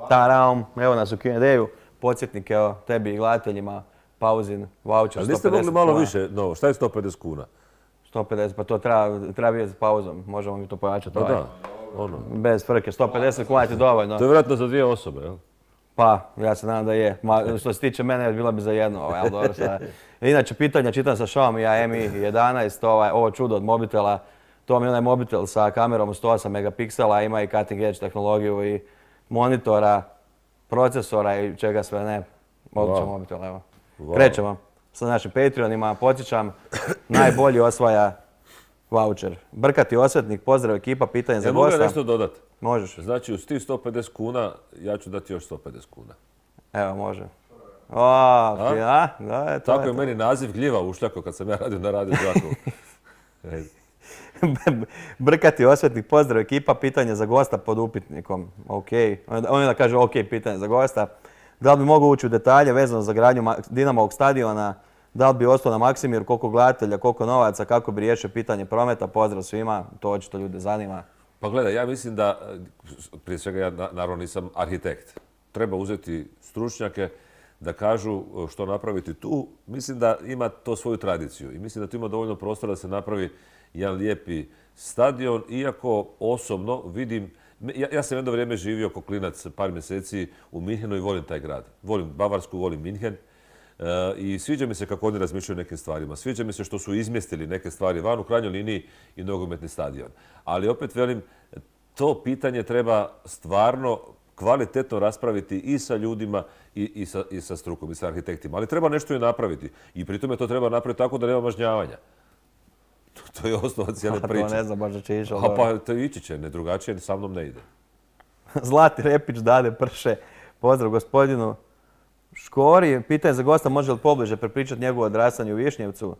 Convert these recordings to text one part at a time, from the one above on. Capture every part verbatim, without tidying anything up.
Taraum, evo nas u Q and A-u. Podsjetnik, evo, tebi i gledateljima, pauzin, voucher, Ali niste sto pedeset mogli malo kuna. više? No, šta je sto pedeset kuna? sto pedeset, pa to treba, treba vidjeti s pauzom. Možemo mi to pojačati. Pa ovaj. da, ono. Bez frke, sto pedeset kuna ti dovoljno. To je vjerojatno za dvije osobe, jel? Pa, ja se nadam da je. Ma, što se tiče mene, bila bi za jedno, ovaj, ali dobro sada. Inače, pitanja čitam sa Xiaomi Mi jedanaest, ovaj, ovo čudo od mobitela. To mi je onaj mobitel sa kamerom od sto osam megapiksela, ima i cutting edge tehnologiju i monitora, procesora i čega sve ne. Odličan Wow. mobitel, evo. Wow. Krećemo sa našim Patreonima. Podsjećam, najbolji osvaja voucher. Brkati osvetnik, pozdrav ekipa, pitanje za Ja mogu gosta. ja nešto dodati? Možeš. Znači, uz tih sto pedeset kuna, ja ću dati još sto pedeset kuna. Evo, može. O, a? Ja, da, je to. Tako je meni naziv gljiva ušljako kad sam ja radio na Radio Đakovu. Brkati osvetnik, pozdrav ekipa, pitanje za gosta pod upitnikom. Ok. On je da kaže ok, pitanje za gosta. Da li bi mogao ući u detalje vezano za gradnju Dinamovog stadiona? Da li bi ostao na Maksimir, koliko gledatelja, koliko novaca, kako bi riješio pitanje prometa? Pozdrav svima, to očito ljude zanima. Pa gledaj, ja mislim da, prije svega ja naravno nisam arhitekt. Treba uzeti stručnjake da kažu što napraviti tu. Mislim da ima to svoju tradiciju i mislim da tu ima dovoljno prostora da se napravi jedan lijepi stadion, iako osobno vidim, ja, ja sam jedno vrijeme živio kao klinac par mjeseci u Minhenu i volim taj grad. Volim Bavarsku, volim Minhen. E, I sviđa mi se kako oni razmišljaju o nekim stvarima. Sviđa mi se što su izmjestili neke stvari van, u krajnjoj liniji i nogometni stadion. Ali opet velim, to pitanje treba stvarno kvalitetno raspraviti i sa ljudima i, i, sa, i sa strukom i sa arhitektima. Ali treba nešto i napraviti. I pri tome to treba napraviti tako da nema mažnjavanja. To, to je osnova cijele priče. To ne znam baš da će ići. A pa to ići će, ne drugačije, sa mnom ne ide. Zlati Repić, Dade Prše, pozdrav gospodinu Škori. Pitanje za gosta, može li pobliže prepričati njegovo odrastanje u Višnjevcu?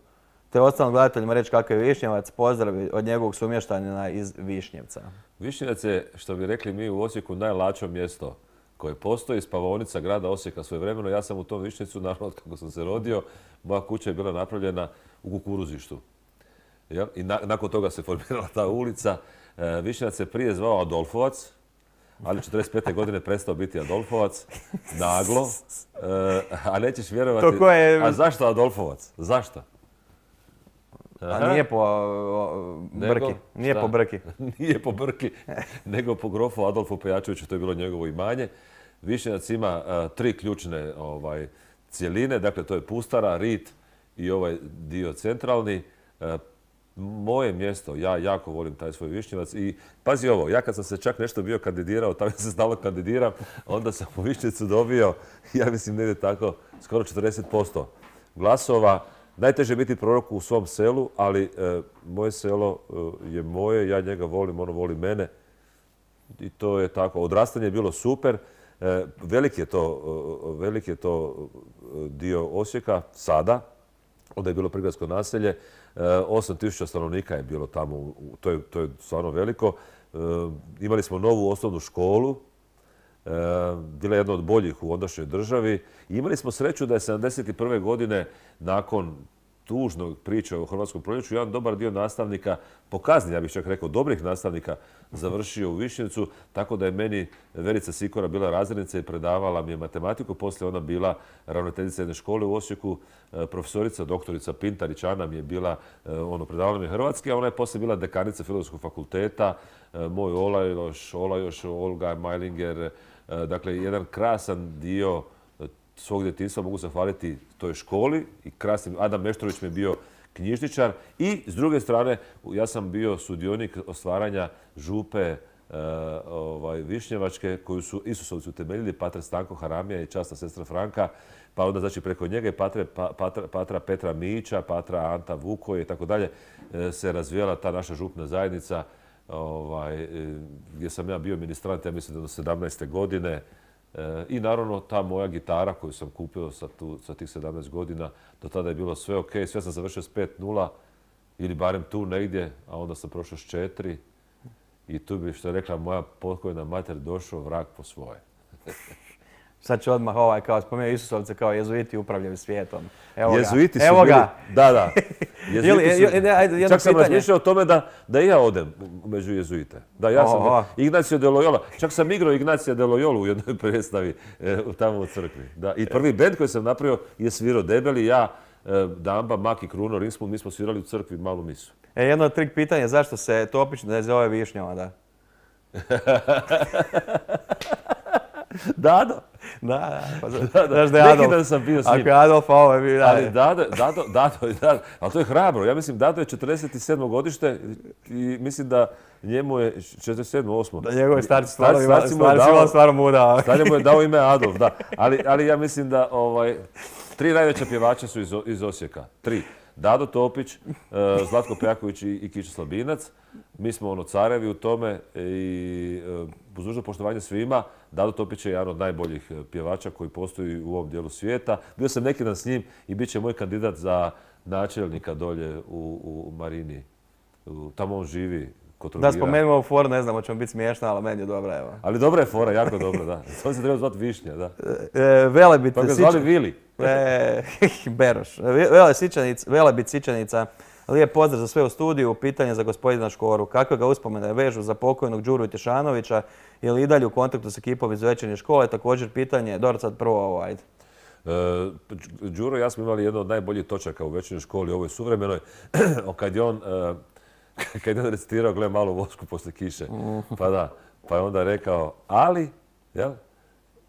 Te ostalim gledateljima reći kakav je Višnjevac, pozdrav od njegovog sumještanina iz Višnjevca. Višnjevac je, što bi rekli mi u Osijeku, najlačo mjesto koje postoji, spavaonica grada Osijeka svojevremeno. Ja sam u tom Višnjevcu, naravno kako sam se rodio, moja kuća je bila napravljena u kukuruzištu. I na, nakon toga se formirala ta ulica. E, Višnjevac se prije zvao Adolfovac, ali četrdeset pete godine prestao biti Adolfovac, naglo. E, a nećeš vjerovati... To je... A zašto Adolfovac? Zašto? A nije po o, brki. Nego, nije šta? po brki. Nije po brki, nego po grofu Adolfu Pejačeviću, to je bilo njegovo imanje. Višnjevac ima a, tri ključne ovaj, cjeline, dakle to je Pustara, Rit i ovaj dio centralni. A, moje mjesto, ja jako volim taj svoj Višnjevac i pazi ovo, ja kad sam se čak nešto bio kandidirao, tamo se stalno kandidiram, onda sam u Višnjevcu dobio, ja mislim ne ide tako, skoro četrdeset posto glasova. Najteže je biti prorok u svom selu, ali e, moje selo e, je moje, ja njega volim, ono voli mene i to je tako. Odrastanje je bilo super, e, velik je to, e, velik je to dio Osijeka sada, onda je bilo prigradsko naselje, e, osam tisuća stanovnika je bilo tamo, u, to, je, to je stvarno veliko. E, imali smo novu osnovnu školu, e, bila je jedna od boljih u ondašnjoj državi. I imali smo sreću da je sedamdeset prve godine nakon tužnog priče o Hrvatskom proljeću jedan dobar dio nastavnika, po kazni, ja bih čak rekao, dobrih nastavnika, završio u Višnjevcu, tako da je meni Verica Sikora bila razrednica i predavala mi je matematiku. Poslije ona bila ravnateljica jedne škole u Osijeku, profesorica, doktorica Pintarić Ana mi je bila, ono, predavala mi je hrvatski, a ona je poslije bila dekanica Filozofskog fakulteta, moj Olajoš, Olajoš, Olga Majlinger, dakle, jedan krasan dio svog djetinjstva mogu zahvaliti toj školi i krasnim. Adam Meštrović mi je bio knjižničar i s druge strane ja sam bio sudionik ostvaranja župe e, ovaj, Višnjevačke koju su Isusovci utemeljili, pater Stanko Haramija i časna sestra Franka, pa onda znači preko njega i patre, pa, patra, patra Petra Mića, patra Anta Vukoje i tako dalje se razvijala ta naša župna zajednica ovaj, gdje sam ja bio ministrant, ja mislim da do sedamnaeste godine. I naravno ta moja gitara koju sam kupio sa, tu, sa tih sedamnaest godina, do tada je bilo sve ok, sve sam završio s pet nula ili barem tu negdje, a onda sam prošao s četiri i tu bi, što je rekla moja pokojna mater, došao vrag po svoje. Sad ću odmah ovaj, kao spomenuo Isusovce, kao jezuiti upravljaju svijetom. Evo Jezuiti ga. su Evo bili, ga. da, da. Jezuiti Ili- su, ili- ajde, jedno čak sam pitanje. razmišljao o tome da, da i ja odem među jezuite. Da, ja sam Oho. Ignacio de Loyola. Čak sam igrao Ignacija de Loyolu u jednoj predstavi e, tamo u crkvi. Da. I prvi bend koji sam napravio je svirao Debeli, ja, e, Damba, Mak i Kruno, Rinsmund, mi smo svirali u crkvi malu misu. E, jedno od trik pitanja je zašto se Topić ne zove Višnjova, da? Dado. Da, da. Pa, za- Da, da. znaš da je Neki Adolf. dan sam bio s njim. Ako je Adolf, a ovo je bio, da. Ali Dado, Dado, Dado, je- Dado, ali to je hrabro. Ja mislim Dado je četrdeset sedmo godište i mislim da njemu je četrdeset sedmo osmo Da njegove starci stvarno Starci- ima- starci mu je stvarno dao- ima stvarno muda. Stanje mu je dao ime Adolf, da. Ali, ali ja mislim da ovaj, tri najveća pjevača su iz, O- iz Osijeka. Tri. Dado Topić, uh, Zlatko Pejaković i, i Kiča Slabinac. Mi smo ono carevi u tome i uh, uz dužno poštovanje svima, Dado Topić je jedan od najboljih pjevača koji postoji u ovom dijelu svijeta. Bio sam neki dan s njim i bit će moj kandidat za načelnika dolje u, u Marini. U, tamo on živi. Kod Da Trogira. spomenemo ovu foru, ne znam, hoće vam biti smiješna, ali meni je dobra, evo. Ali dobra je fora, jako dobra, da. On se treba zvati Višnja, da. E, Velebit, Pa ga Sič- zvali Vili. E, Beroš. Vele Sičanic, Velebit Sičanica. Lijep pozdrav za sve u studiju. Pitanje za gospodina Škoru. Kakve ga uspomene vežu za pokojnog Đuru Tješanovića? Je li i dalje u kontaktu s ekipom iz večernje škole? Također pitanje, dobro sad prvo ovo, ajde. E, Đuro i ja smo imali jedno od najboljih točaka u večernjoj školi, ovoj suvremenoj, kad je on, e, kad je on recitirao gle malu vosku poslije kiše. Pa da, pa je onda rekao, ali, jel?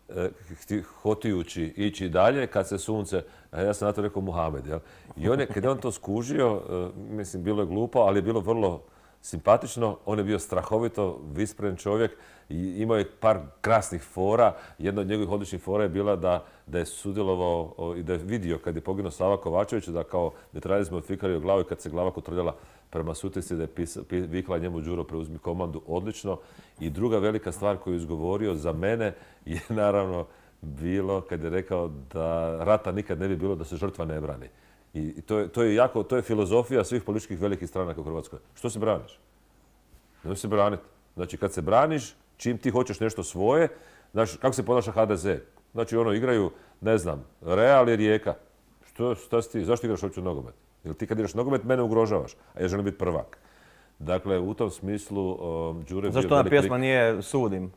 E, hti- hotijući ići dalje kad se sunce, a ja sam na to rekao Muhamed, jel? I on je, kad je on to skužio, e, mislim, bilo je glupo, ali je bilo vrlo simpatično. On je bio strahovito vispren čovjek i imao je par krasnih fora. Jedna od njegovih odličnih fora je bila da, da je sudjelovao o, i da je vidio kad je poginuo Sava Kovačević, da kao metraljac mu otfikario glavu i kad se glava kotrljala prema Sutjeski, da je pis, pi, vikla njemu Đuro preuzmi komandu odlično. I druga velika stvar koju je izgovorio za mene je naravno bilo kad je rekao da rata nikad ne bi bilo da se žrtva ne brani. I to je, to je jako, to je filozofija svih političkih velikih stranaka u Hrvatskoj. Što se braniš? Nemoj se braniti. Znači, kad se braniš, čim ti hoćeš nešto svoje, znači, kako se ponaša ha de ze? Znači, ono, igraju, ne znam, Real i Rijeka. Što, šta si ti? Zašto igraš uopće nogomet? Jer ti kad igraš nogomet, mene ugrožavaš, a ja želim biti prvak. Dakle, u tom smislu, um, Đure je bio Zašto ona velik lik. pjesma nije Sudim,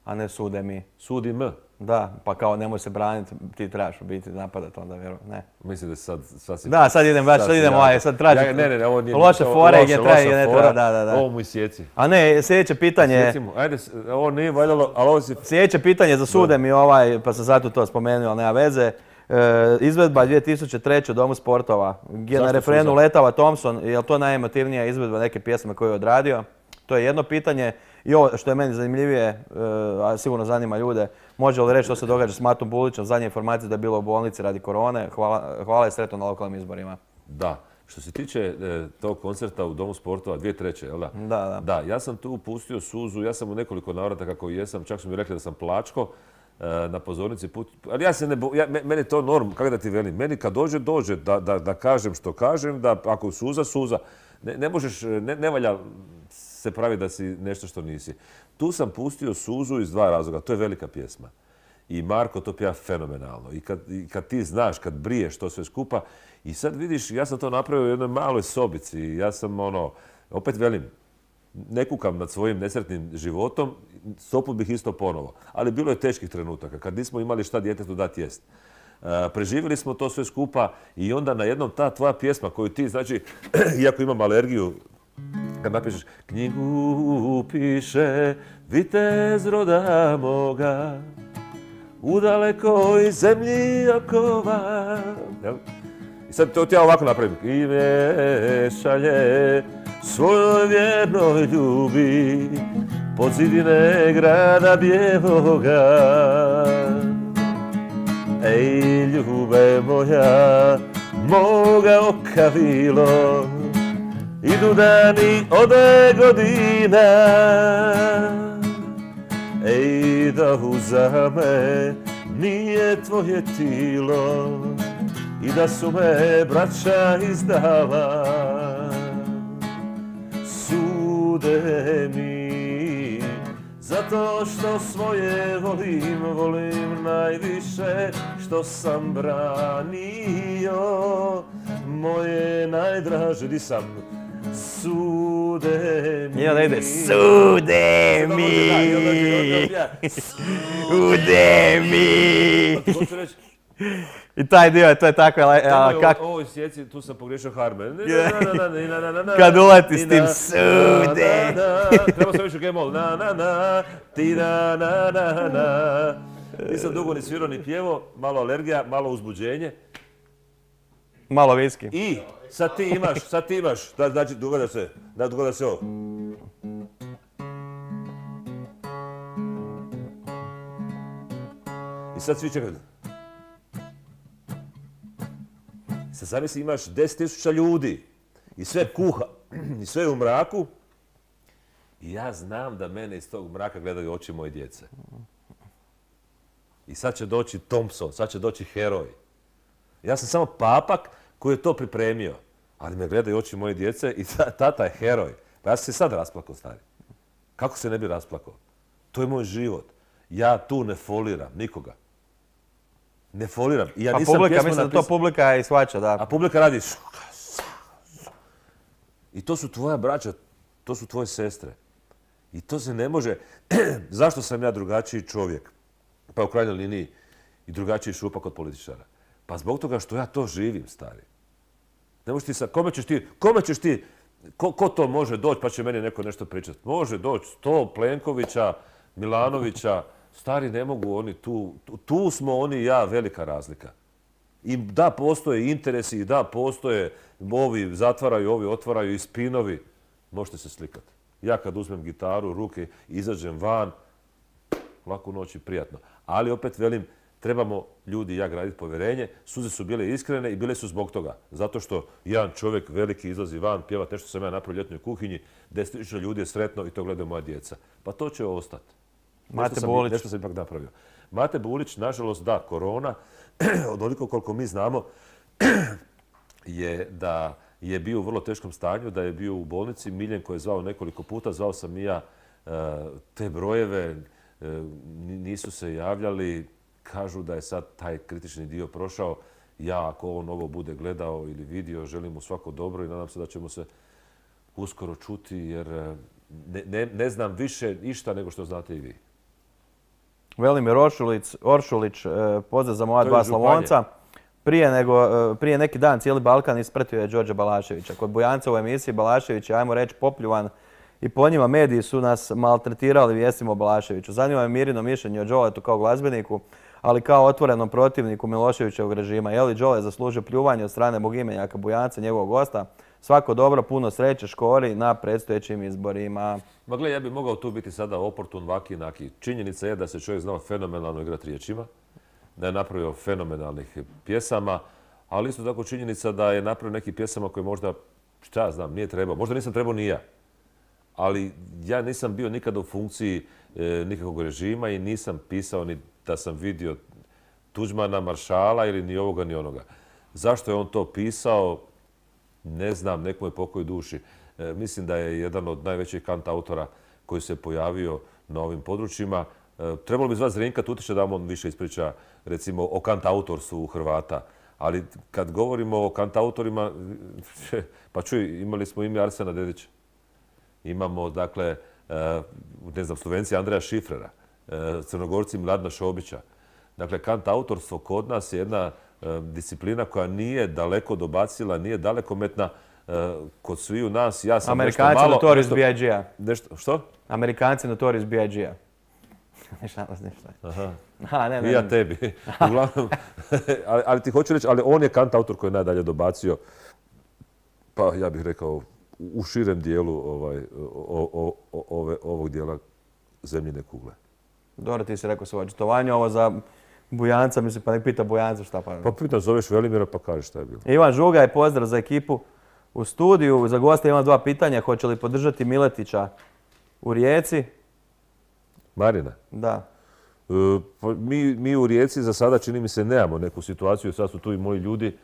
a ne Sude mi? Sudi M. Da, pa kao nemoj se braniti, ti trebaš biti napadat onda, vjerujem, ne. Mislim da sad, sad si... Da, sad idem baš, sad si idem jako- ovaj, sad tražim Ja, ne, ne, ne, ovo nije... loše ovo- fore loše, gdje treba i loša gdje ne fora. treba, da, da, da. Ovo mu isjeci. A ne, sljedeće pitanje, Recimo, ajde, s- ovo nije valjalo, ali ovo si... sljedeće pitanje za Sude mi ovaj, pa sam zato to spomenuo, ali nema veze. E, izvedba dvije tisuće treće u Domu sportova, gdje na Zašto refrenu suza? letava Thompson, je li to najemotivnija izvedba neke pjesme koju je odradio? To je jedno pitanje. I ovo što je meni zanimljivije, e, a sigurno zanima ljude, može li reći što se događa s Matom Bulićem, zadnje informacije da je bilo u bolnici radi korone, hvala, hvala i sretno na lokalnim izborima. Da. Što se tiče e, tog koncerta u Domu sportova dvije treće, jel da? Da, da. Da, ja sam tu pustio suzu, ja sam u nekoliko navrata kako i jesam, čak su mi rekli da sam plačko e, na pozornici put, ali ja se ne bo, ja, me- meni je to norm, kako da ti velim, meni kad dođe, dođe, da, da, da kažem što kažem, da ako suza, suza. Ne, ne možeš, ne, ne valja se pravi da si nešto što nisi. Tu sam pustio suzu iz dva razloga, to je velika pjesma. I Marko to pjeva fenomenalno. I kad, i kad ti znaš, kad briješ to sve skupa, i sad vidiš, ja sam to napravio u jednoj maloj sobici. Ja sam ono, opet velim, ne kukam nad svojim nesretnim životom, sto put bih isto ponovo. Ali bilo je teških trenutaka, kad nismo imali šta djetetu dati jest. Uh, preživjeli smo to sve skupa i onda na jednom ta tvoja pjesma koju ti, znači, iako imam alergiju, kad napišeš knjigu piše vitez roda moga u dalekoj zemlji okova. Jel? I sad to ti ja ovako napravim. I me šalje svojoj vjernoj ljubi pod zidine grada bijeloga. Ej, ljube moja, moga oka vilo, idu dani ode godina. Ej, da uza me nije tvoje tilo i da su me braća izdala. Sude mi za zato što svoje volim, volim najviše što sam branio. Moje najdraže, di sam, sude mi. I onda ide, sude mi, sude mi. Hoću reći, I taj dio, to je tako, kako... ovo sjeci, tu sam pogriješio harme. Kad uleti s tim sude. Treba sam više gemol. Na, na, na, ti, na, na, na, na. Nisam dugo ni svirao ni pjevo, malo alergija, malo uzbuđenje. Malo viski. I sad ti imaš, sad ti imaš, znači dogada se, da dogada se ovo. I sad svi čekaju. Sad zamisli imaš deset tisuća ljudi i sve kuha i sve u mraku i ja znam da mene iz tog mraka gledaju oči moje djece. I sad će doći Thompson, sad će doći heroj. Ja sam samo papak koji je to pripremio, ali me gledaju oči moje djece i tata je heroj. Pa ja sam se sad rasplakao, stari. Kako se ne bi rasplakao? To je moj život. Ja tu ne foliram nikoga. Ne foliram. I ja pa nisam publika, pjesmu mislim da to napisao. publika i shvaća, da. A publika radi... I to su tvoja braća, to su tvoje sestre. I to se ne može... Zašto sam ja drugačiji čovjek? Pa u krajnjoj liniji i drugačiji šupak od političara. Pa zbog toga što ja to živim, stari. Ne možeš ti sad... Kome ćeš ti... Kome ćeš ti... Ko, ko to može doći pa će meni neko nešto pričati? Može doći sto Plenkovića, Milanovića. Stari, ne mogu oni tu... Tu smo oni i ja velika razlika. I da, postoje interesi i da, postoje ovi zatvaraju, ovi otvaraju i spinovi. Možete se slikati. Ja kad uzmem gitaru, ruke, izađem van, laku noć i prijatno. Ali opet velim, trebamo ljudi i ja graditi povjerenje. Suze su bile iskrene i bile su zbog toga. Zato što jedan čovjek veliki izlazi van, pjevat nešto sam ja napravio u ljetnoj kuhinji, deset tisuća ljudi je sretno i to gledaju moja djeca. Pa to će ostati. Mate Bulić. Nešto sam ipak napravio. Mate Bulić, nažalost, da, korona, onoliko koliko mi znamo, je da je bio u vrlo teškom stanju, da je bio u bolnici. Miljenko je zvao nekoliko puta, zvao sam i ja te brojeve, nisu se javljali. Kažu da je sad taj kritični dio prošao. Ja, ako on ovo bude gledao ili vidio, želim mu svako dobro i nadam se da ćemo se uskoro čuti, jer ne, ne, ne znam više ništa nego što znate i vi. Velimir Oršulić, Oršulić pozdrav za moja dva Slavonca. Prije, nego, prije neki dan cijeli Balkan ispratio je Đorđa Balaševića. Kod Bujanca u emisiji Balašević je, ajmo reći, popljuvan i po njima mediji su nas maltretirali vijestima o Balaševiću. Zanima me Mirino mišljenje o Đoletu kao glazbeniku, ali kao otvorenom protivniku Miloševićevog režima. Je li Đole zaslužio pljuvanje od strane bogimenjaka Bujanca, njegovog gosta? Svako dobro, puno sreće Škori na predstojećim izborima. Ma gle, ja bih mogao tu biti sada oportun, vaki, naki. Činjenica je da se čovjek znao fenomenalno igrati riječima, da je napravio fenomenalnih pjesama, ali isto tako činjenica da je napravio nekih pjesama koje možda, šta ja znam, nije trebao. Možda nisam trebao ni ja. Ali ja nisam bio nikada u funkciji e, nikakvog režima i nisam pisao ni da sam vidio Tuđmana, Maršala ili ni ovoga ni onoga. Zašto je on to pisao? Ne znam, nekom je pokoj duši. E, mislim da je jedan od najvećih kantautora koji se pojavio na ovim područjima. E, trebalo bi zvati Zrinka Tutića da on više ispriča, recimo, o kantautorstvu u Hrvata. Ali kad govorimo o kantautorima, pa čuj, imali smo ime Arsena Dedića. Imamo, dakle, e, ne znam, Slovenci Andreja Šifrera, e, Crnogorci Mladna Šobića. Dakle, kantautorstvo kod nas je jedna disciplina koja nije daleko dobacila, nije dalekometna kod sviju nas. Ja sam Amerikanci nešto malo... Notorious B I G-a. Nešto, što? Amerikanci Notorious B I G-a. Ništa, ništa. Aha. Aha, ne, ne, I ja ne. tebi. Uglavnom, ali, ali ti hoću reći, ali on je kantautor koji je najdalje dobacio, pa ja bih rekao, u širem dijelu ovaj, o, o, o, ove, ovog dijela zemljine kugle. Dobro, ti si rekao svoje očitovanje, ovo za Bujanca, mislim, pa nek pita Bujanca šta pa... Pa pitan, zoveš Velimira pa kažeš šta je bilo. Ivan Žugaj, pozdrav za ekipu u studiju. Za gosta imam dva pitanja. Hoće li podržati Miletića u Rijeci? Marina? Da. E, pa mi, mi u Rijeci za sada, čini mi se, nemamo neku situaciju. Sad su tu i moji ljudi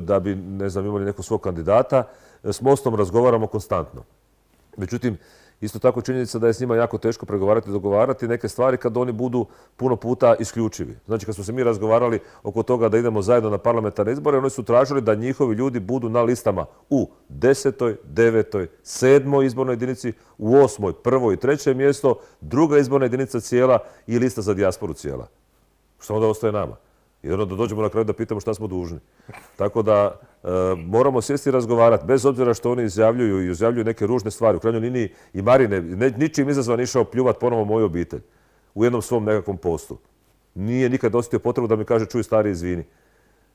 da bi, ne znam, imali nekog svog kandidata. S Mostom razgovaramo konstantno. Međutim, Isto tako činjenica da je s njima jako teško pregovarati i dogovarati neke stvari kad oni budu puno puta isključivi. Znači kad smo se mi razgovarali oko toga da idemo zajedno na parlamentarne izbore, oni su tražili da njihovi ljudi budu na listama u desetoj, devetoj, sedmoj izbornoj jedinici, u osmoj, prvoj i treće mjesto, druga izborna jedinica cijela i lista za dijasporu cijela. Što onda ostaje nama? I onda da dođemo na kraju da pitamo šta smo dužni. Tako da e, moramo sjesti i razgovarati, bez obzira što oni izjavljuju i izjavljuju neke ružne stvari. U krajnjoj liniji i Marine, ne, ničim izazvan išao pljuvat ponovo moju obitelj u jednom svom nekakvom postu. Nije nikad osjetio potrebu da mi kaže čuj stari izvini.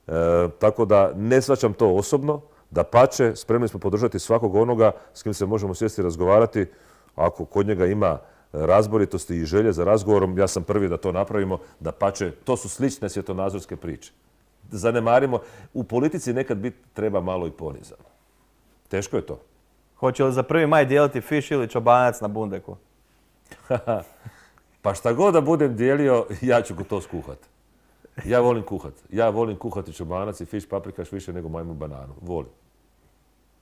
E, tako da ne shvaćam to osobno, da pače, spremni smo podržati svakog onoga s kim se možemo sjesti i razgovarati. Ako kod njega ima razboritosti i želje za razgovorom, ja sam prvi da to napravimo, da pače, to su slične svjetonazorske priče. Zanemarimo, u politici nekad biti treba malo i ponizano. Teško je to. Hoće li za prvi maj dijeliti fiš ili čobanac na bundeku? Pa šta god da budem dijelio, ja ću to skuhat. Ja volim kuhat. Ja volim kuhati čobanac i fiš paprikaš više nego majmu bananu. Volim.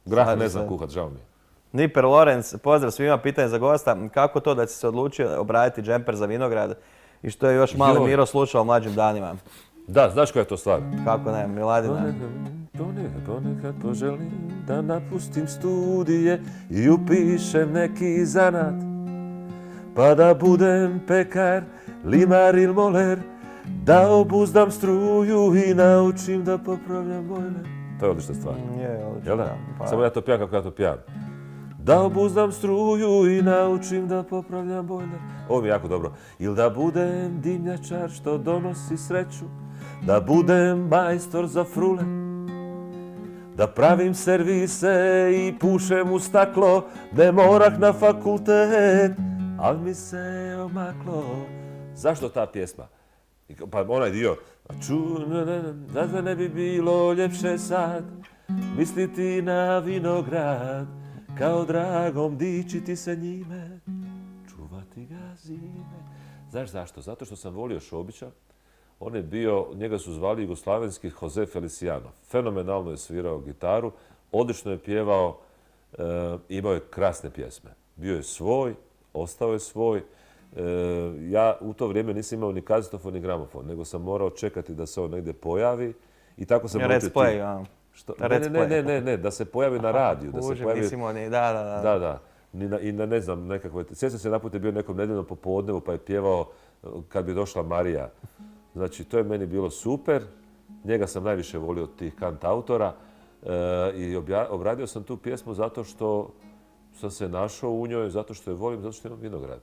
Grah ne znam kuhat, žao mi je. Niper Lorenz, pozdrav svima, pitanje za gosta. Kako to da si se odlučio obraditi džemper za vinograd i što je još mali Miro slušao o mlađim danima? Da, znaš koja je to stvar? Kako ne, Miladina. Ponekad, ponekad poželim da napustim studije i upišem neki zanat. Pa da budem pekar, limar ili moler, da obuzdam struju i naučim da popravljam bojler. To je odlična stvar. Je, odlična. Jel da? Pa... Samo ja to pijam kako ja to pijam. Da obuzdam struju i naučim da popravljam bojler. Ovo mi je jako dobro. Ili da budem dimnjačar što donosi sreću, da budem majstor za frule, da pravim servise i pušem u staklo, ne morak na fakultet, al mi se omaklo. Zašto ta pjesma? Pa onaj dio. Da ne bi bilo ljepše sad misliti na vinograd, kao dragom dičiti se njime, čuvati ga zime. Znaš zašto? Zato što sam volio Šobića. On je bio, njega su zvali jugoslavenski Jose Feliciano. Fenomenalno je svirao gitaru, odlično je pjevao, e, imao je krasne pjesme. Bio je svoj, ostao je svoj. E, ja u to vrijeme nisam imao ni kazetofon ni gramofon, nego sam morao čekati da se on negdje pojavi i tako sam naučio ti... Play, Što? Ne, ne, ne, ne, ne, da se pojavi na radiju. Da se pojavi... Ni, da, da, da. Da, da. I na, i na ne znam, nekakve... Sjećam se, naput je bio nekom nedeljnom popodnevu pa je pjevao kad bi došla Marija. Znači, to je meni bilo super. Njega sam najviše volio od tih kantautora. E, I obja, obradio sam tu pjesmu zato što sam se našao u njoj, zato što je volim, zato što imam vinograd.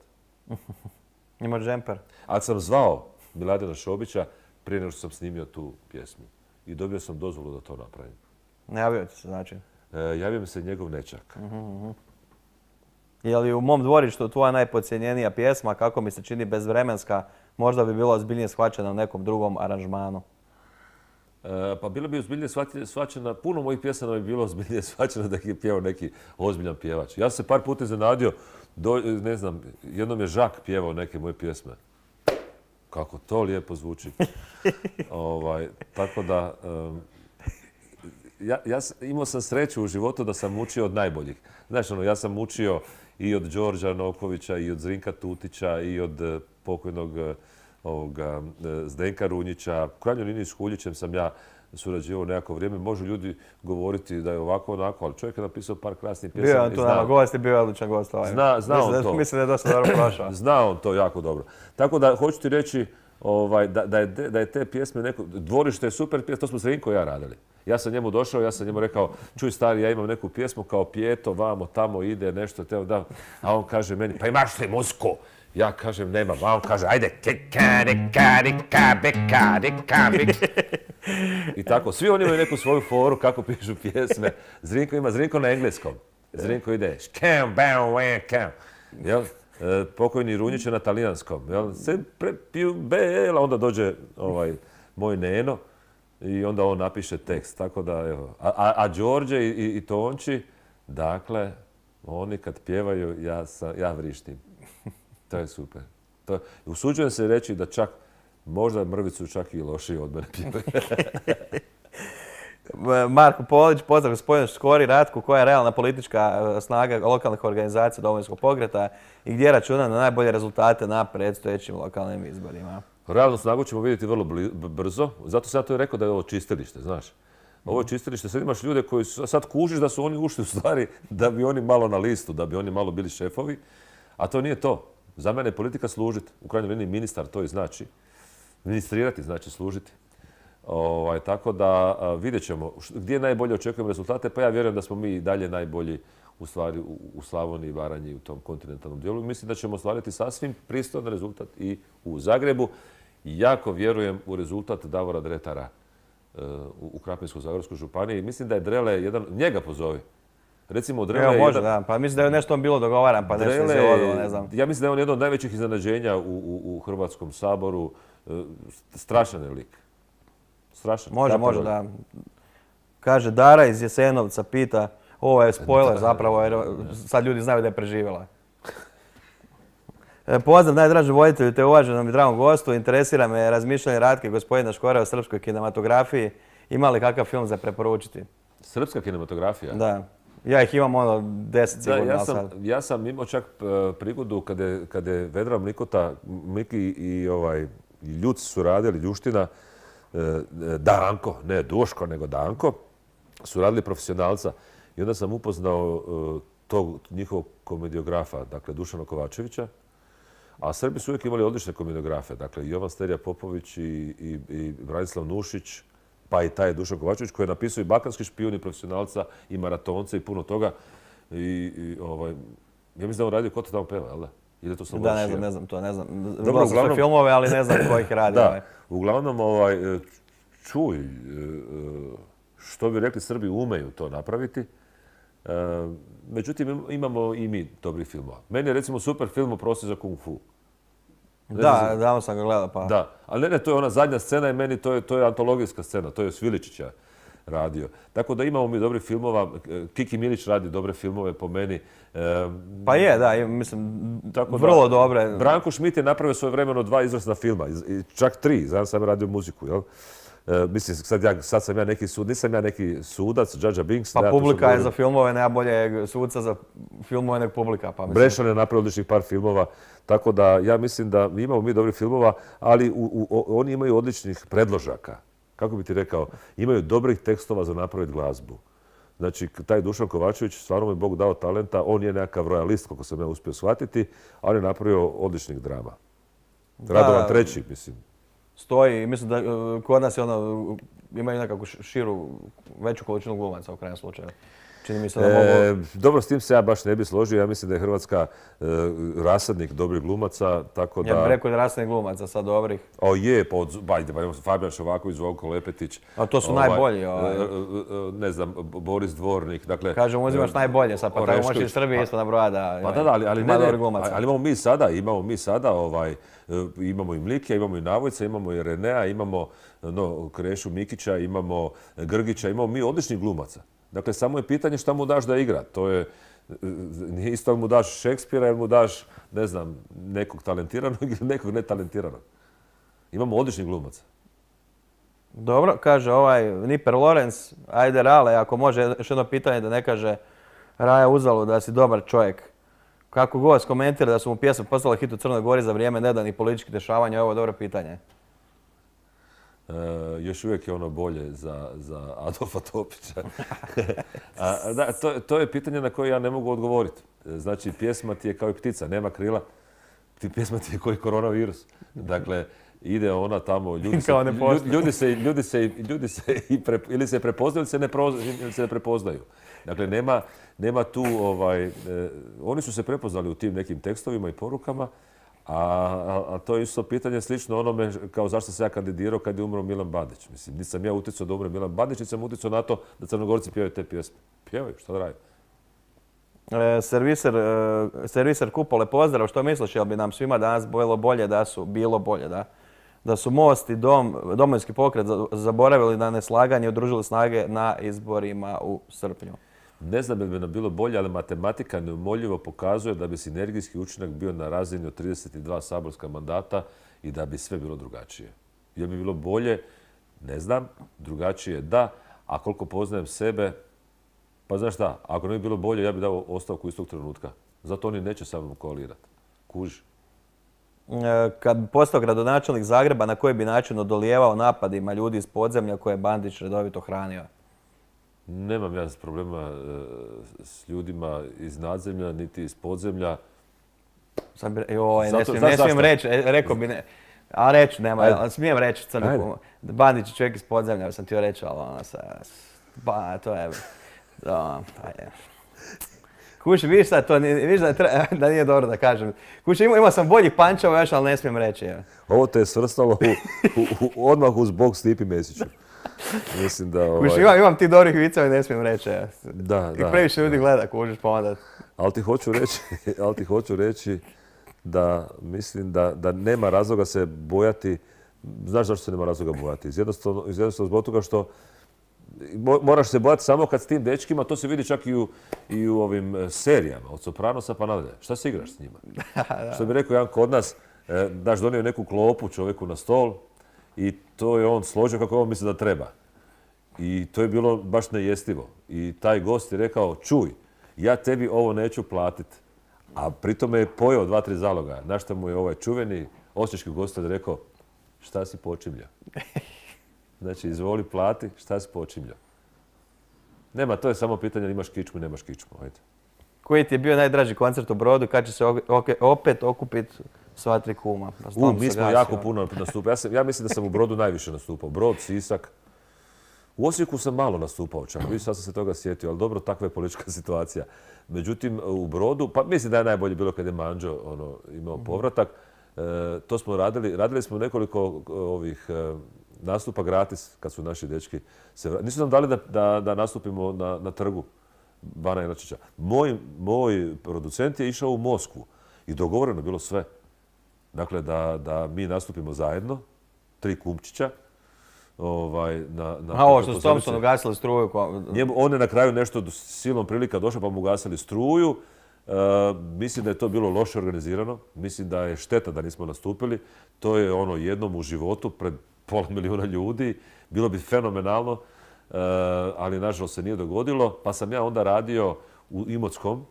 Ima džemper. Ali sam zvao Miladina Šobića prije nego što sam snimio tu pjesmu. I dobio sam dozvolu da to napravim. Ne javio ti se, znači? E, javio mi se njegov nečak. Uh-huh, uh-huh. Je li u mom dvorištu tvoja najpodcijenjenija pjesma, kako mi se čini bezvremenska, možda bi bila ozbiljnije shvaćena u nekom drugom aranžmanu? E, pa bilo bi ozbiljnije shvaćena, puno mojih pjesama bi bilo ozbiljnije shvaćena da ih je pjevao neki ozbiljan pjevač. Ja sam se par puta iznenadio, ne znam, jednom je Žak pjevao neke moje pjesme. Kako to lijepo zvuči. ovaj, tako da, um, ja, ja imao sam sreću u životu da sam učio od najboljih. Znaš, ono, ja sam učio i od Đorđa Nokovića, i od Zrinka Tutića, i od uh, pokojnog uh, ovoga, uh, Zdenka Runjića. U krajnjoj liniji s Huljićem sam ja surađivao nekako vrijeme. Može ljudi govoriti da je ovako onako, ali čovjek je napisao par krasnih pjesama. Bio je on tu nama gost i bio je odličan gost. Ovaj. Zna, zna mislim, on to. Mislim da je dosta dobro prošao. Zna on to jako dobro. Tako da, hoću ti reći, Ovaj, da, da, je, da je te pjesme neko... Dvorište je super pjesma, to smo s Rinko i ja radili. Ja sam njemu došao, ja sam njemu rekao, čuj stari, ja imam neku pjesmu kao Pijeto, vamo, tamo ide nešto, te da. A on kaže meni, pa imaš li muziku? Ja kažem, nemam. A on kaže, ajde, i tako, svi oni imaju neku svoju foru kako pišu pjesme. Zrinko ima, Zrinko na engleskom. Zrinko ide, škem, bam, wan, kam. Jel? E, pokojni Runjić je na talijanskom. Jel? Se prepiju bela, onda dođe ovaj, moj Neno i onda on napiše tekst. Tako da, evo. A, a, a Đorđe i, i, i Tonči, dakle, oni kad pjevaju, ja, sam, ja vrištim. To je super. To, usuđujem se reći da čak, možda mrvicu čak i lošije od mene pjevaju. Marko Polić, pozdrav gospodinu Škori Ratku, koja je realna politička snaga lokalnih organizacija Domovinskog pokreta i gdje računa na najbolje rezultate na predstojećim lokalnim izborima. Realnu snagu ćemo vidjeti vrlo brzo, zato sam ja to i rekao da je ovo čistilište, znaš. Ovo je čistilište, sad imaš ljude koji su, sad kužiš da su oni ušli u stvari da bi oni malo na listu, da bi oni malo bili šefovi, a to nije to. Za mene je politika služiti, u krajnjoj liniji ministar to i znači. Ministrirati znači služiti. Ovaj, tako da vidjet ćemo gdje najbolje očekujemo rezultate, pa ja vjerujem da smo mi i dalje najbolji u stvari u, u Slavoniji i Baranji u tom kontinentalnom dijelu. Mislim da ćemo ostvariti sasvim pristojan rezultat i u Zagrebu. Jako vjerujem u rezultat Davora Dretara uh, u Krapinsko-zagorskoj županiji. Mislim da je Drele jedan, njega pozovi. Recimo Drele Evo, je može, jedan, da. Pa mislim da je nešto on bilo dogovaran, pa nešto Drele, se odilo, ne znam. Ja mislim da je on jedno od najvećih iznenađenja u, u, u Hrvatskom saboru. Uh, strašan je lik. Strašan. Može, može, da. Kaže, Dara iz Jesenovca pita, ovo je spoiler zapravo, jer sad ljudi znaju da je preživjela. Pozdrav najdraži voditelju te uvaženom i dragom gostu. Interesira me razmišljanje Ratke gospodina Škore o srpskoj kinematografiji. Ima li kakav film za preporučiti? Srpska kinematografija? Da. Ja ih imam ono deset sigurno. Da, ja sam, ja sam imao čak prigodu kada je, kada je Vedra Mlikota, Mliki i, ovaj, i Ljuc su radili, Ljuština, Danko, ne Duško, nego Danko, su radili profesionalca. I onda sam upoznao tog njihovog komediografa, dakle Dušana Kovačevića. A Srbi su uvijek imali odlične komediografe. Dakle, Jovan Sterija Popović i, i, i Branislav Nušić, pa i taj Dušan Kovačević, koji je napisao i Balkanski špijun, i profesionalca, i maratonce, i puno toga. I, i ovaj, ja mislim da on radio Ko to tamo peva, jel da? Ili to sam da, ne znam, ne znam to, ne znam. Dobro, Gledao sam sve filmove, ali ne znam ko ih radi. Da, ovaj. uglavnom, ovaj, čuj, što bi rekli, Srbi umeju to napraviti. Međutim, imamo i mi dobrih filmova. Meni je recimo super film o Prosi za kung fu. Da, davno sam ga gledao, pa... Da, ali ne, ne, to je ona zadnja scena i meni to je, to je antologijska scena, to je Sviličića radio. Tako da imamo mi dobrih filmova, Kiki Milić radi dobre filmove po meni. Pa je, da, mislim, tako vrlo da, dobre. Branko Šmit je napravio svoje vremeno dva izvrsna filma, čak tri, znam sam radio muziku, jel? Uh, mislim, sad, ja, sad sam ja neki sud, nisam ja neki sudac, Džadža Binks. Pa ja publika je za filmove najbolje suca za filmove nek publika. Pa mislim. Brešan je napravio odličnih par filmova, tako da ja mislim da imamo mi dobrih filmova, ali u, u, oni imaju odličnih predložaka. Kako bi ti rekao, imaju dobrih tekstova za napraviti glazbu. Znači, taj Dušan Kovačević, stvarno mu je Bog dao talenta, on je nekakav rojalist, kako sam ja uspio shvatiti, ali je napravio odličnih drama. Radovan treći, mislim. Stoji, mislim da kod nas je ono, imaju nekakvu širu, veću količinu glumaca u krajnjem slučaju. Čini mi se da mogu... E, dobro, s tim se ja baš ne bi složio. Ja mislim da je Hrvatska e, rasadnik dobrih glumaca, tako da... Ja bih rekao da je rasadnik glumaca sad dobrih. O je, pa od... Bajde, pa imamo Fabijan Šovaković, Zvonko Lepetić. A to su ovaj, najbolji. Ovaj. Ne znam, Boris Dvornik, dakle... Kažem, uzimaš najbolje sad, pa tako možeš i Srbije isto nabroja da... Pa da, da, ali, ali, ne, ne, ali imamo mi sada, imamo mi sada, ovaj, imamo i Mlikija, imamo i Navojca, imamo i Renea, imamo no, Krešu Mikića, imamo Grgića, imamo mi odličnih glumaca. Dakle, samo je pitanje šta mu daš da igra. To je, nije isto mu daš Šekspira ili mu daš, ne znam, nekog talentiranog ili nekog netalentiranog. Imamo odličnih glumaca. Dobro, kaže ovaj Niper Lorenz, ajde Rale, ako može još jedno pitanje da ne kaže Raja Uzalu da si dobar čovjek. Kako god komentira da su mu pjesme postale hit u Crnoj Gori za vrijeme nedanih političkih dešavanja, ovo je dobro pitanje. Uh, još uvijek je ono bolje za, za Adolfa Topića. A, da, to, to je pitanje na koje ja ne mogu odgovoriti. Znači, pjesma ti je kao i ptica, nema krila. Ti pjesma ti je koji koronavirus. Dakle, ide ona tamo, ljudi se, ljudi, ljudi se, ljudi se, ljudi se i pre, ili se prepoznaju ili se ne, proz, ili se ne prepoznaju. Dakle, nema, nema tu, ovaj, eh, oni su se prepoznali u tim nekim tekstovima i porukama, A, a, a to je isto pitanje slično onome kao zašto se ja kandidirao kad je umro Milan Bandić. Mislim, nisam ja utjecao da umre Milan Bandić, nisam utjecao na to da Crnogorci pjevaju te pjesme. Pjevaju, šta da radi? E, serviser, e, serviser Kupole, pozdrav, što misliš, jel bi nam svima danas bilo bolje da su, bilo bolje, da? Da su Most i Dom, Domovinski pokret zaboravili na neslaganje i udružili snage na izborima u srpnju? Ne znam je li bi nam bilo bolje, ali matematika neumoljivo pokazuje da bi sinergijski učinak bio na razini od trideset dva saborska mandata i da bi sve bilo drugačije. Je li bi bilo bolje? Ne znam. Drugačije da. A koliko poznajem sebe, pa znaš šta, ako ne bi bilo bolje, ja bih dao ostavku istog trenutka. Zato oni neće sa mnom koalirati. Kuži. Kad bi postao gradonačelnik Zagreba, na koji bi način odolijevao napadima ljudi iz podzemlja koje je Bandić redovito hranio? Nemam ja problema s ljudima iz nadzemlja, niti iz podzemlja. Sam bi, joj, ne Zato- smijem, znaš ne smijem zašto? reći, e, rekao bi ne. A reću, nema, Ajde. ali smijem reći, crnu Ajde. kumu. Bandić je čovjek iz podzemlja, sam ti reći, ali ono sa... Ba, to je... Da, ajde. Kuši, vidiš sad, to nije, vidiš da, treba, da nije dobro da kažem. Kuši, imao, imao sam boljih pančeva još, ali ne smijem reći. Je. Ovo te je svrstalo u, u, u, odmah uz bok Stipi Mesiću. Mislim da... Ovaj, Kuši, imam, imam ti dobrih viceva i ne smijem reći. Je. da, Kako da. previše ljudi gleda, kužiš, pa onda... Ali ti hoću reći, ali ti hoću reći da mislim da, da nema razloga se bojati. Znaš zašto se nema razloga bojati? Iz jednostavno, iz jednostavno zbog toga što mo- moraš se bojati samo kad s tim dečkima, to se vidi čak i u, i u ovim e, serijama, od Sopranosa pa nadalje. Šta se igraš s njima? Što bi rekao jedan kod nas, e, daš donio neku klopu čovjeku na stol i to je on složio kako on misli da treba. I to je bilo baš nejestivo. I taj gost je rekao, čuj, ja tebi ovo neću platiti. A pritom je pojeo dva, tri zaloga. Na što mu je ovaj čuveni osječki gostelj rekao, šta si počimljao? Znači, izvoli plati, šta si počimljao? Nema, to je samo pitanje, imaš kičmu, nemaš kičmu. Ajde. Koji ti je bio najdraži koncert u Brodu, kad će se o- oke- opet okupiti sva tri kuma? Pa U, stalno mi se smo gasi, jako ono. puno nastupali. Ja, sam- ja mislim da sam u Brodu najviše nastupao. Brod, Sisak. U Osijeku sam malo nastupao čak. Vidiš, sad sam se toga sjetio, ali dobro, takva je politička situacija. Međutim, u Brodu, pa mislim da je najbolje bilo kad je Manđo ono, imao povratak. E, to smo radili, radili smo nekoliko e, ovih e, nastupa gratis kad su naši dečki se vra- Nisu nam dali da, da, da nastupimo na, na trgu Bana Jelačića. Moj, moj producent je išao u Moskvu i dogovoreno je bilo sve. Dakle, da, da mi nastupimo zajedno, tri kumčića, ovaj, na, na A ovo što s pozornici. Thompsonu gasili struju, ko- Njemu, on je na kraju nešto do- silom prilika došao pa mu gasili struju. E, mislim da je to bilo loše organizirano. Mislim da je šteta da nismo nastupili. To je ono jednom u životu pred pola milijuna ljudi. Bilo bi fenomenalno, e, ali nažalost se nije dogodilo. Pa sam ja onda radio u Imotskom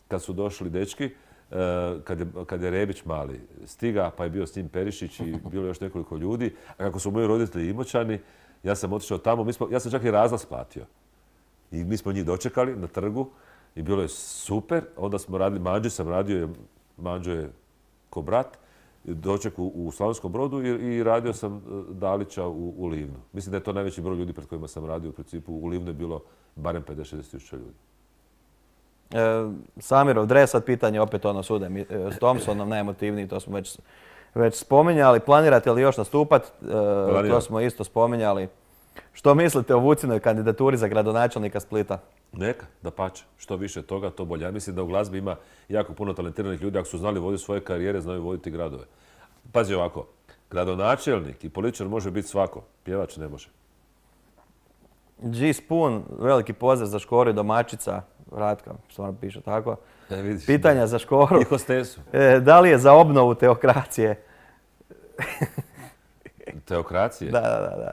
kad su došli dečki. e, Kad je, kad je Rebić mali stiga, pa je bio s njim Perišić i bilo još nekoliko ljudi. A kako su moji roditelji Imoćani, ja sam otišao tamo. Mi smo, ja sam čak i razlaz platio. I mi smo njih dočekali na trgu i bilo je super. Onda smo radili, Manđe sam radio, jer Manđo je ko brat, doček u, u Slavonskom Brodu i, i radio sam e, Dalića u, u Livnu. Mislim da je to najveći broj ljudi pred kojima sam radio. U principu u Livnu je bilo barem pedeset do šezdeset tisuća ljudi. E, Samirov dres, sad pitanje opet ono sude mi- e, s Thompsonom, najemotivniji, to smo već, već spominjali. Planirate li još nastupat? E, to Planiram. smo isto spominjali. Što mislite o Vucinoj kandidaturi za gradonačelnika Splita? Neka, da pače. Što više toga, to bolje. Ja mislim da u glazbi ima jako puno talentiranih ljudi. Ako su znali voditi svoje karijere, znaju voditi gradove. Pazi ovako, gradonačelnik i političar može biti svako. Pjevač ne može. G. Spoon, veliki pozdrav za Škoru i domaćica. Ratka, stvarno piše tako. E, vidiš, Pitanja za Škoru. I hostesu. E, da li je za obnovu teokracije? Teokracije? Da, da, da. da.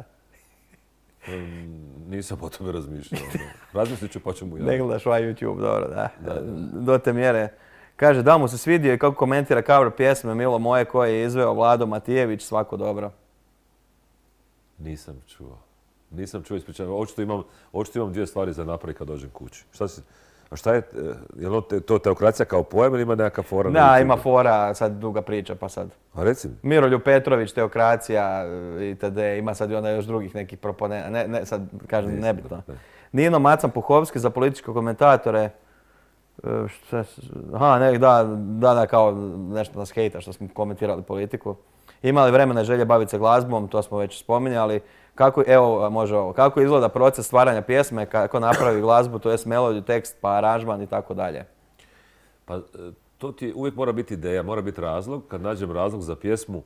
Mm, Nisam o tome razmišljao. ono. Razmislit ću pa ću mu Ne javiti. gledaš ovaj YouTube, dobro, da. Do te mjere. Kaže, da mu se svidio i kako komentira cover pjesme Milo moje koje je izveo Vlado Matijević, svako dobro. Nisam čuo. Nisam čuo, ispričavam. Očito imam, očito imam dvije stvari za napraviti kad dođem kući. Šta si, a šta je, e, je li te- to teokracija kao pojam ili ima nekakva fora? na Da, YouTubeu? ima fora, sad duga priča, pa sad. A reci mi. Miroljub Petrović, teokracija itd. Ima sad i onda još drugih nekih proponenta. Ne, ne, sad kažem Nisam, nebitno. ne. Nino Macan Puhovski za političke komentatore. E, šta s- Aha, ne, da, da, da, kao nešto nas hejta što smo komentirali politiku. Imali vremena i želje baviti se glazbom, to smo već spominjali. Kako, evo, može ovo. Kako izgleda proces stvaranja pjesme, kako napravi glazbu, to jest melodiju, tekst, pa aranžman i tako dalje. Pa e, to ti uvijek mora biti ideja, mora biti razlog. Kad nađem razlog za pjesmu,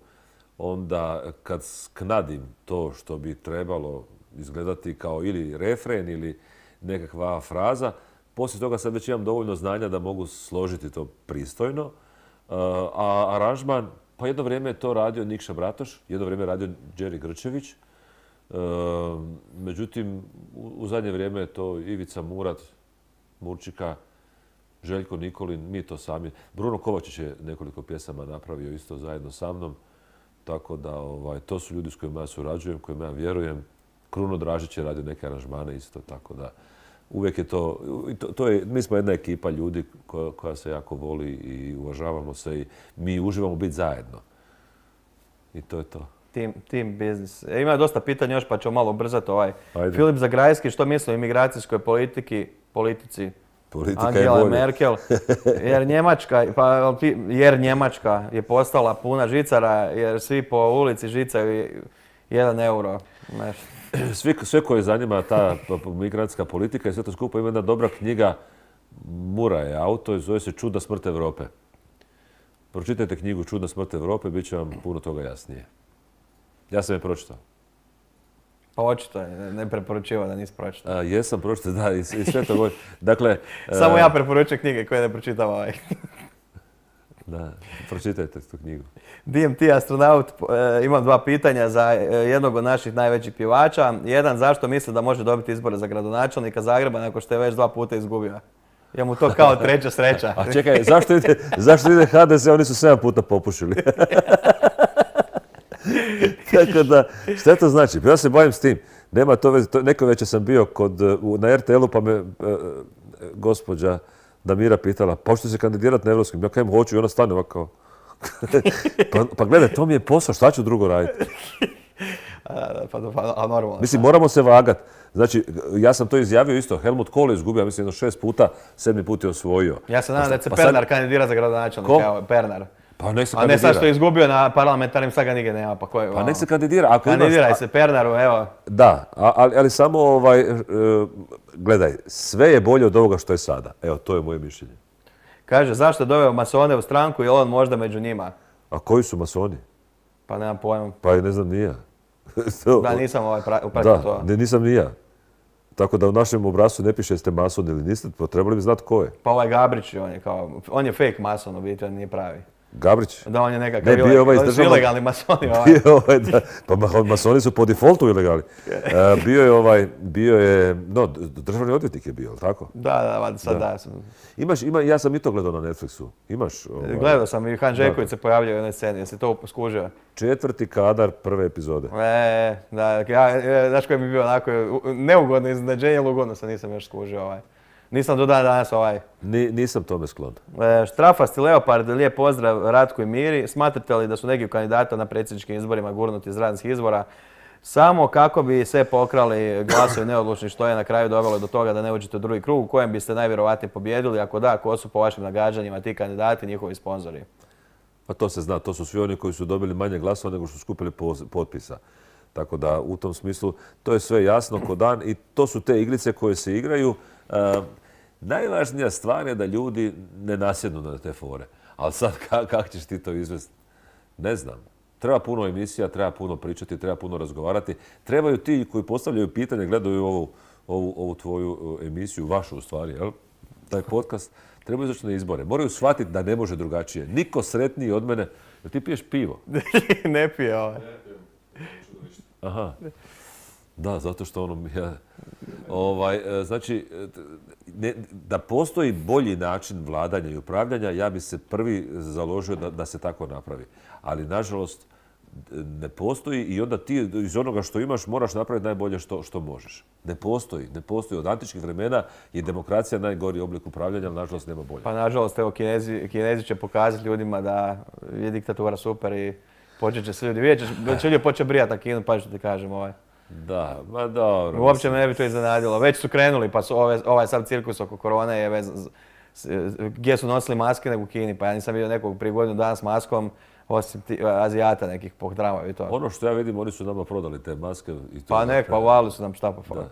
onda kad sknadim to što bi trebalo izgledati kao ili refren ili nekakva fraza, poslije toga sad već imam dovoljno znanja da mogu složiti to pristojno. E, A aranžman, pa jedno vrijeme je to radio Nikša Bratoš, jedno vrijeme je radio Đeri Grčević. Međutim, u zadnje vrijeme je to Ivica Murat, Murčika, Željko Nikolin, mi to sami. Bruno Kovačić je nekoliko pjesama napravio isto zajedno sa mnom. Tako da ovaj, to su ljudi s kojima ja surađujem, kojima ja vjerujem. Kruno Dražić je radio neke aranžmane isto, tako da uvijek je to, to, to je, mi smo jedna ekipa ljudi koja, koja se jako voli i uvažavamo se i mi uživamo biti zajedno. I to je to. Team, team business. E, ima dosta pitanja još pa ćemo malo ubrzati ovaj. Ajde. Filip Zagrajski, što misli o imigracijskoj politiki, politici Politika Angela je bolje. Merkel? Jer Njemačka, pa, jer Njemačka je postala puna žicara jer svi po ulici žicaju jedan euro. Nešto. Svi, sve koje zanima ta migrantska politika i sve to skupa ima jedna dobra knjiga, Mura je auto i zove se Čudna smrt Europe. Pročitajte knjigu Čudna smrt Europe, bit će vam puno toga jasnije. Ja sam je pročitao. Pa očito je, ne preporučivao da nisi pročitao. A, jesam pročitao, da, i, i sve to govorim. Dakle... Samo a, ja preporučujem knjige koje ne pročitam ovaj. Da, pročitajte tu knjigu. D M T astronaut, e, imam dva pitanja za e, jednog od naših najvećih pjevača. Jedan, zašto misli da može dobiti izbore za gradonačelnika Zagreba nakon što je već dva puta izgubio? Je mu to kao treća sreća. A čekaj, zašto ide, zašto ide H D S? Oni su sedam puta popušili. Tako da, šta to znači? Ja se bavim s tim. Nema to veze. Neko večer sam bio kod, na R T L-u pa me e, gospođa Damira pitala, pa hoćete se kandidirati na evropskim? Ja kajem hoću i ona stane ovako. pa, pa gledaj, to mi je posao, šta ću drugo raditi? a, pa, pa, a normalno. Mislim, moramo se vagati. Znači, ja sam to izjavio isto. Helmut Kohl je izgubio, mislim, jedno šest puta, sedmi put je osvojio. Ja se nadam da će se pa Pernar sad... kandidira za gradonačelnika. Evo, Pernar. Pa nek se a kandidira. ne sad što je izgubio na parlamentarnim, sad ga nigdje nema. Pa, koji, pa nek se kandidira. Ako Kandidiraj imaš... se Pernaru, evo. Da, ali, ali samo ovaj, gledaj, sve je bolje od ovoga što je sada. Evo, to je moje mišljenje. Kaže, zašto je doveo masone u stranku i on možda među njima? A koji su masoni? Pa nemam pojma. Pa ne znam ni ja. Da, nisam ovaj upratio to. Da, nisam ni ja. Tako da u našem obrascu ne piše jeste mason ili niste, pa trebali bi znati ko je. Pa ovaj Gabrić, on je kao, on je fake mason u biti, on nije pravi. Gabrić? Da, on je nekakav ne, bio ovaj ilegalni, državnog... ilegalni masoni. Ovaj. Bio ovaj, da, pa masoni su po defaultu ilegali. Uh, bio je ovaj, bio je, no, državni odvjetnik je bio, tako? Da, da, sad da. da. Imaš, ima, ja sam i to gledao na Netflixu. Imaš? Ovaj... Gledao sam i Han Žeković se pojavljao u jednoj sceni, jesi to skužio? Četvrti kadar prve epizode. E, da, ja, znaš koji mi je bio onako neugodno iznenađenje, ali ugodno sam nisam još skužio ovaj. Nisam do dana danas ovaj. Ni, nisam tome sklon. E, Štrafasti Leopard, lijep pozdrav Ratku i Miri. Smatrate li da su neki kandidata na predsjedničkim izborima gurnuti iz radnih izbora samo kako bi sve pokrali glasovi neodlučni, što je na kraju dovelo do toga da ne uđete u drugi krug u kojem biste najvjerovatnije pobjedili? Ako da, ko su po vašim nagađanjima ti kandidati, njihovi sponzori? Pa to se zna, to su svi oni koji su dobili manje glasova nego što su skupili potpisa. Tako da u tom smislu to je sve jasno ko dan i to su te igrice koje se igraju. Uh, najvažnija stvar je da ljudi ne nasjednu na te fore. Ali sad kako kak ćeš ti to izvesti? Ne znam. Treba puno emisija, treba puno pričati, treba puno razgovarati. Trebaju ti koji postavljaju pitanje, gledaju ovu, ovu, ovu tvoju emisiju, vašu u stvari, jel? Taj podcast, trebaju izaći na izbore. Moraju shvatiti da ne može drugačije. Niko sretniji od mene. Jel ti piješ pivo? Ne pije ovaj. Aha. Da, zato što ono... Ja, ovaj, znači, ne, da postoji bolji način vladanja i upravljanja, ja bi se prvi založio da, da se tako napravi. Ali, nažalost, ne postoji i onda ti iz onoga što imaš moraš napraviti najbolje što, što možeš. Ne postoji. Ne postoji. Od antičkih vremena je demokracija najgori oblik upravljanja, ali nažalost nema bolje. Pa nažalost, evo, Kinezi, Kinezi će pokazati ljudima da je diktatura super i počet će se ljudi. Vidjet će ljudi početi brijati na Kinu, pa što ti kažem ovaj. Da, ma dobro. Uopće me ne bi to iznenadilo. Već su krenuli, pa su ove, ovaj sad cirkus oko korone je vezan, gdje su nosili maske nego u Kini, pa ja nisam vidio nekog prije godinu dana s maskom, osim ti, Azijata nekih po tramvaju i to. Ono što ja vidim, oni su nama prodali te maske. I to pa nek, pa uvali su nam šta pa da,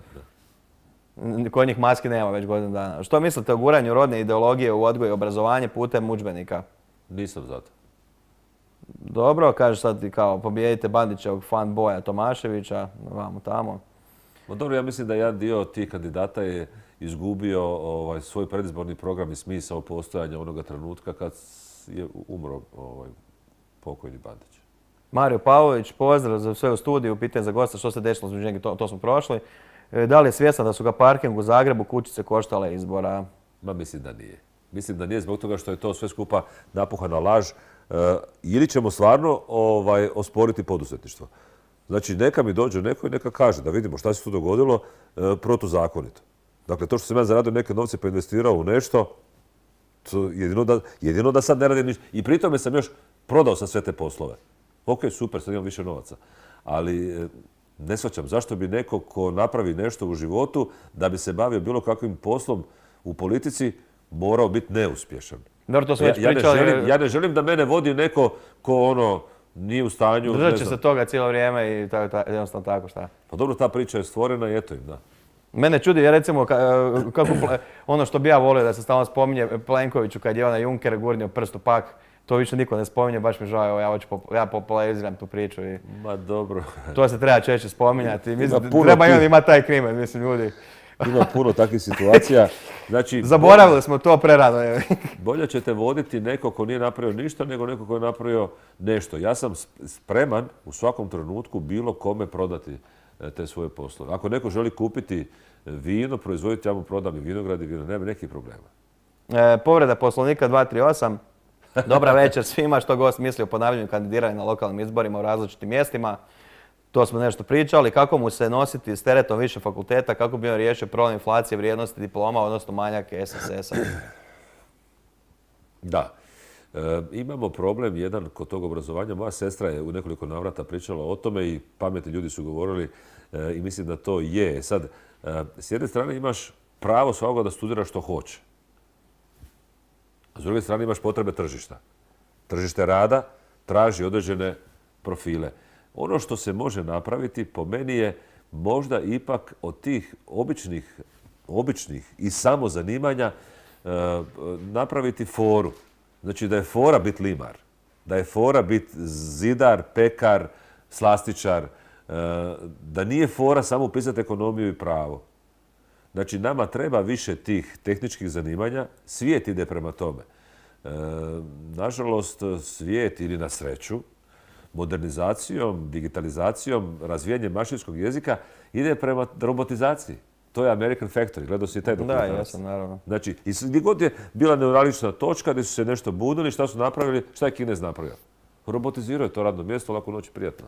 da. Kod njih maske nema već godinu dana. Što mislite o guranju rodne ideologije u odgoj i obrazovanje putem udžbenika? Nisam za to. Dobro, kaže sad ti kao pobijedite Bandićevog fanboja Tomaševića, vamo tamo. No dobro, ja mislim da jedan dio tih kandidata je izgubio ovaj, svoj predizborni program i smisao postojanja onoga trenutka kad je umro ovaj, pokojni Bandić. Mario Pavlović, pozdrav za sve u studiju, pitanje za gosta što se desilo između njega, to, to smo prošli. E, Da li je svjestan da su ga parking u Zagrebu kućice koštale izbora? Ma mislim da nije. Mislim da nije zbog toga što je to sve skupa napuhana laž. E, ili ćemo stvarno ovaj, osporiti poduzetništvo. Znači, neka mi dođe neko i neka kaže da vidimo šta se tu dogodilo e, protuzakonito. Dakle, to što sam ja zaradio neke novce pa investirao u nešto, to jedino, da, jedino da sad ne radim ništa. I pri tome sam još prodao sam sve te poslove. Ok, super, sad imam više novaca. Ali e, ne shvaćam zašto bi neko ko napravi nešto u životu da bi se bavio bilo kakvim poslom u politici morao biti neuspješan. Dobro, to smo Ja, već ja, ne pričali. želim, ja ne želim da mene vodi neko ko ono nije u stanju... Držat ne će znam. se toga cijelo vrijeme i ta, ta, jednostavno tako šta. Pa dobro, ta priča je stvorena i eto im, da. Mene čudi, ja recimo, ka- kako, pla- ono što bi ja volio da se stalno spominje Plenkoviću kad je onaj Juncker gurnio prst u pak, to više niko ne spominje, baš mi žao, evo ja hoću, pop- ja populariziram tu priču i Ma dobro. to se treba češće spominjati. Mislim, Ima puno treba i on tih- imati taj krimen, mislim, ljudi. Ima puno takvih situacija. Znači, Zaboravili smo to prerano. je. bolje ćete voditi neko ko nije napravio ništa nego neko ko je napravio nešto. Ja sam spreman u svakom trenutku bilo kome prodati e, te svoje poslove. Ako neko želi kupiti vino, proizvoditi, ja mu prodam i vinograd i vino, nema nekih problema. E, povreda poslovnika dva tri osam. Dobra večer svima, što gost misli o ponavljanju kandidiranja na lokalnim izborima u različitim mjestima. To smo nešto pričali. Kako mu se nositi s teretom više fakulteta, kako bi on riješio problem inflacije vrijednosti diploma, odnosno manjak S S S-a? Da. E, imamo problem jedan kod tog obrazovanja. Moja sestra je u nekoliko navrata pričala o tome i pametni ljudi su govorili e, i mislim da to je. Sad, e, s jedne strane imaš pravo svakoga da studira što hoće. A s druge strane imaš potrebe tržišta. Tržište rada traži određene profile. Ono što se može napraviti po meni je možda ipak od tih običnih, običnih i samo zanimanja e, napraviti foru. Znači da je fora bit limar, da je fora bit zidar, pekar, slastičar, e, da nije fora samo upisati ekonomiju i pravo. Znači nama treba više tih tehničkih zanimanja, svijet ide prema tome. E, nažalost, svijet ili na sreću, modernizacijom, digitalizacijom, razvijanjem mašinskog jezika ide prema robotizaciji. To je American Factory, gledao si i taj Da, dokumentarac. jesam, naravno. Znači, i gdje god je bila neuralgična točka gdje su se nešto bunili, šta su napravili, šta je Kinez napravio? Robotizirao je to radno mjesto, lako noć prijatno.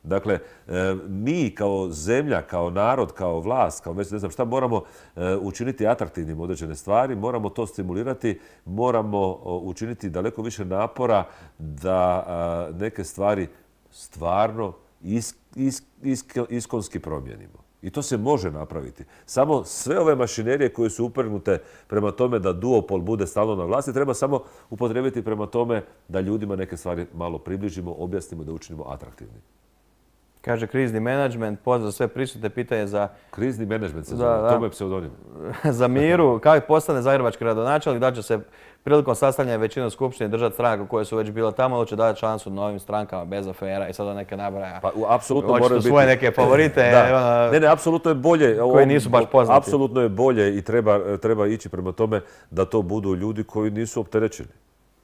Dakle, e, mi kao zemlja, kao narod, kao vlast, kao već ne znam šta, moramo e, učiniti atraktivnim određene stvari, moramo to stimulirati, moramo o, učiniti daleko više napora da a, neke stvari stvarno is, is, is, iskonski promijenimo. I to se može napraviti. Samo sve ove mašinerije koje su uprnute prema tome da duopol bude stalno na vlasti, treba samo upotrijebiti prema tome da ljudima neke stvari malo približimo, objasnimo, da učinimo atraktivnim. Kaže krizni menadžment, pozdrav za sve prisutne, pitanje za, Krizni menadžment se Da, zove, da. to mu je pseudonim. za Miru. Kako postane zagrebački gradonačelnik, da će se prilikom sastavljanja većine u skupštini držati stranaka koje su već bile tamo ili će dati šansu novim strankama bez afera i sada neke nabraja. Pa u- apsolutno Očito moraju biti... svoje neke favorite. Da. ono, Ne, ne, apsolutno je bolje. koji nisu baš poznati. Apsolutno je bolje i treba, treba ići prema tome da to budu ljudi koji nisu opterećeni.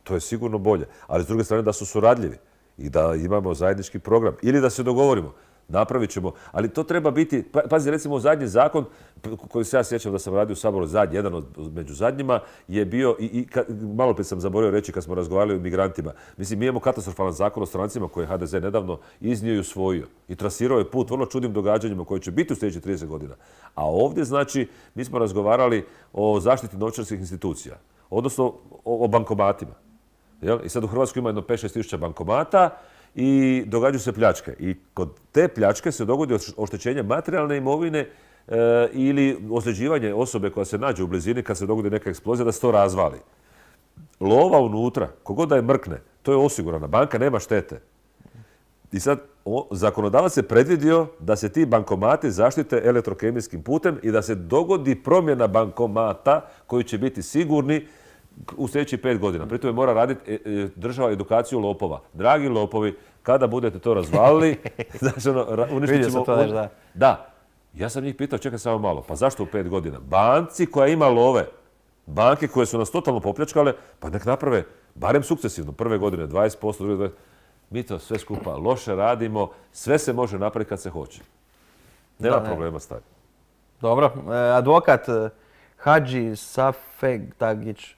To je sigurno bolje. Ali s druge strane da su suradljivi i da imamo zajednički program. Ili da se dogovorimo. Napravit ćemo, ali to treba biti, pa- pazi, recimo zadnji zakon p- koji se ja sjećam da sam radio u Saboru zadnji, jedan od među zadnjima je bio, i, i ka- malo prije sam zaboravio reći kad smo razgovarali o migrantima, mislim, mi imamo katastrofalan zakon o strancima koji je H D Z nedavno iznio i usvojio i trasirao je put vrlo čudnim događanjima koji će biti u sljedećih trideset godina. A ovdje, znači, mi smo razgovarali o zaštiti novčarskih institucija, odnosno o, o bankomatima. Jel? I sad u Hrvatskoj ima jedno pet šest tisuća bankomata i događaju se pljačke. I kod te pljačke se dogodi oštećenje materijalne imovine e, ili ozljeđivanje osobe koja se nađe u blizini kad se dogodi neka eksplozija da se to razvali. Lova unutra, kogod da je mrkne, to je osigurana. Banka nema štete. I sad o, zakonodavac je predvidio da se ti bankomati zaštite elektrokemijskim putem i da se dogodi promjena bankomata koji će biti sigurni u sljedećih pet godina. Pri tome mora raditi e, e, država edukaciju lopova. Dragi lopovi, kada budete to razvalili, znači ono, ra- uništit Vidio ćemo... sam to nešto, da. Da. Ja sam njih pitao, čekaj samo malo, pa zašto u pet godina? Banci koja ima love, banke koje su nas totalno popljačkale, pa nek naprave barem sukcesivno, prve godine dvadeset posto, druge dvadeset posto. mi to sve skupa loše radimo, sve se može napraviti kad se hoće. Nema Da, ne. problema staviti. Dobro, e, advokat e, Hadži Safegtagić.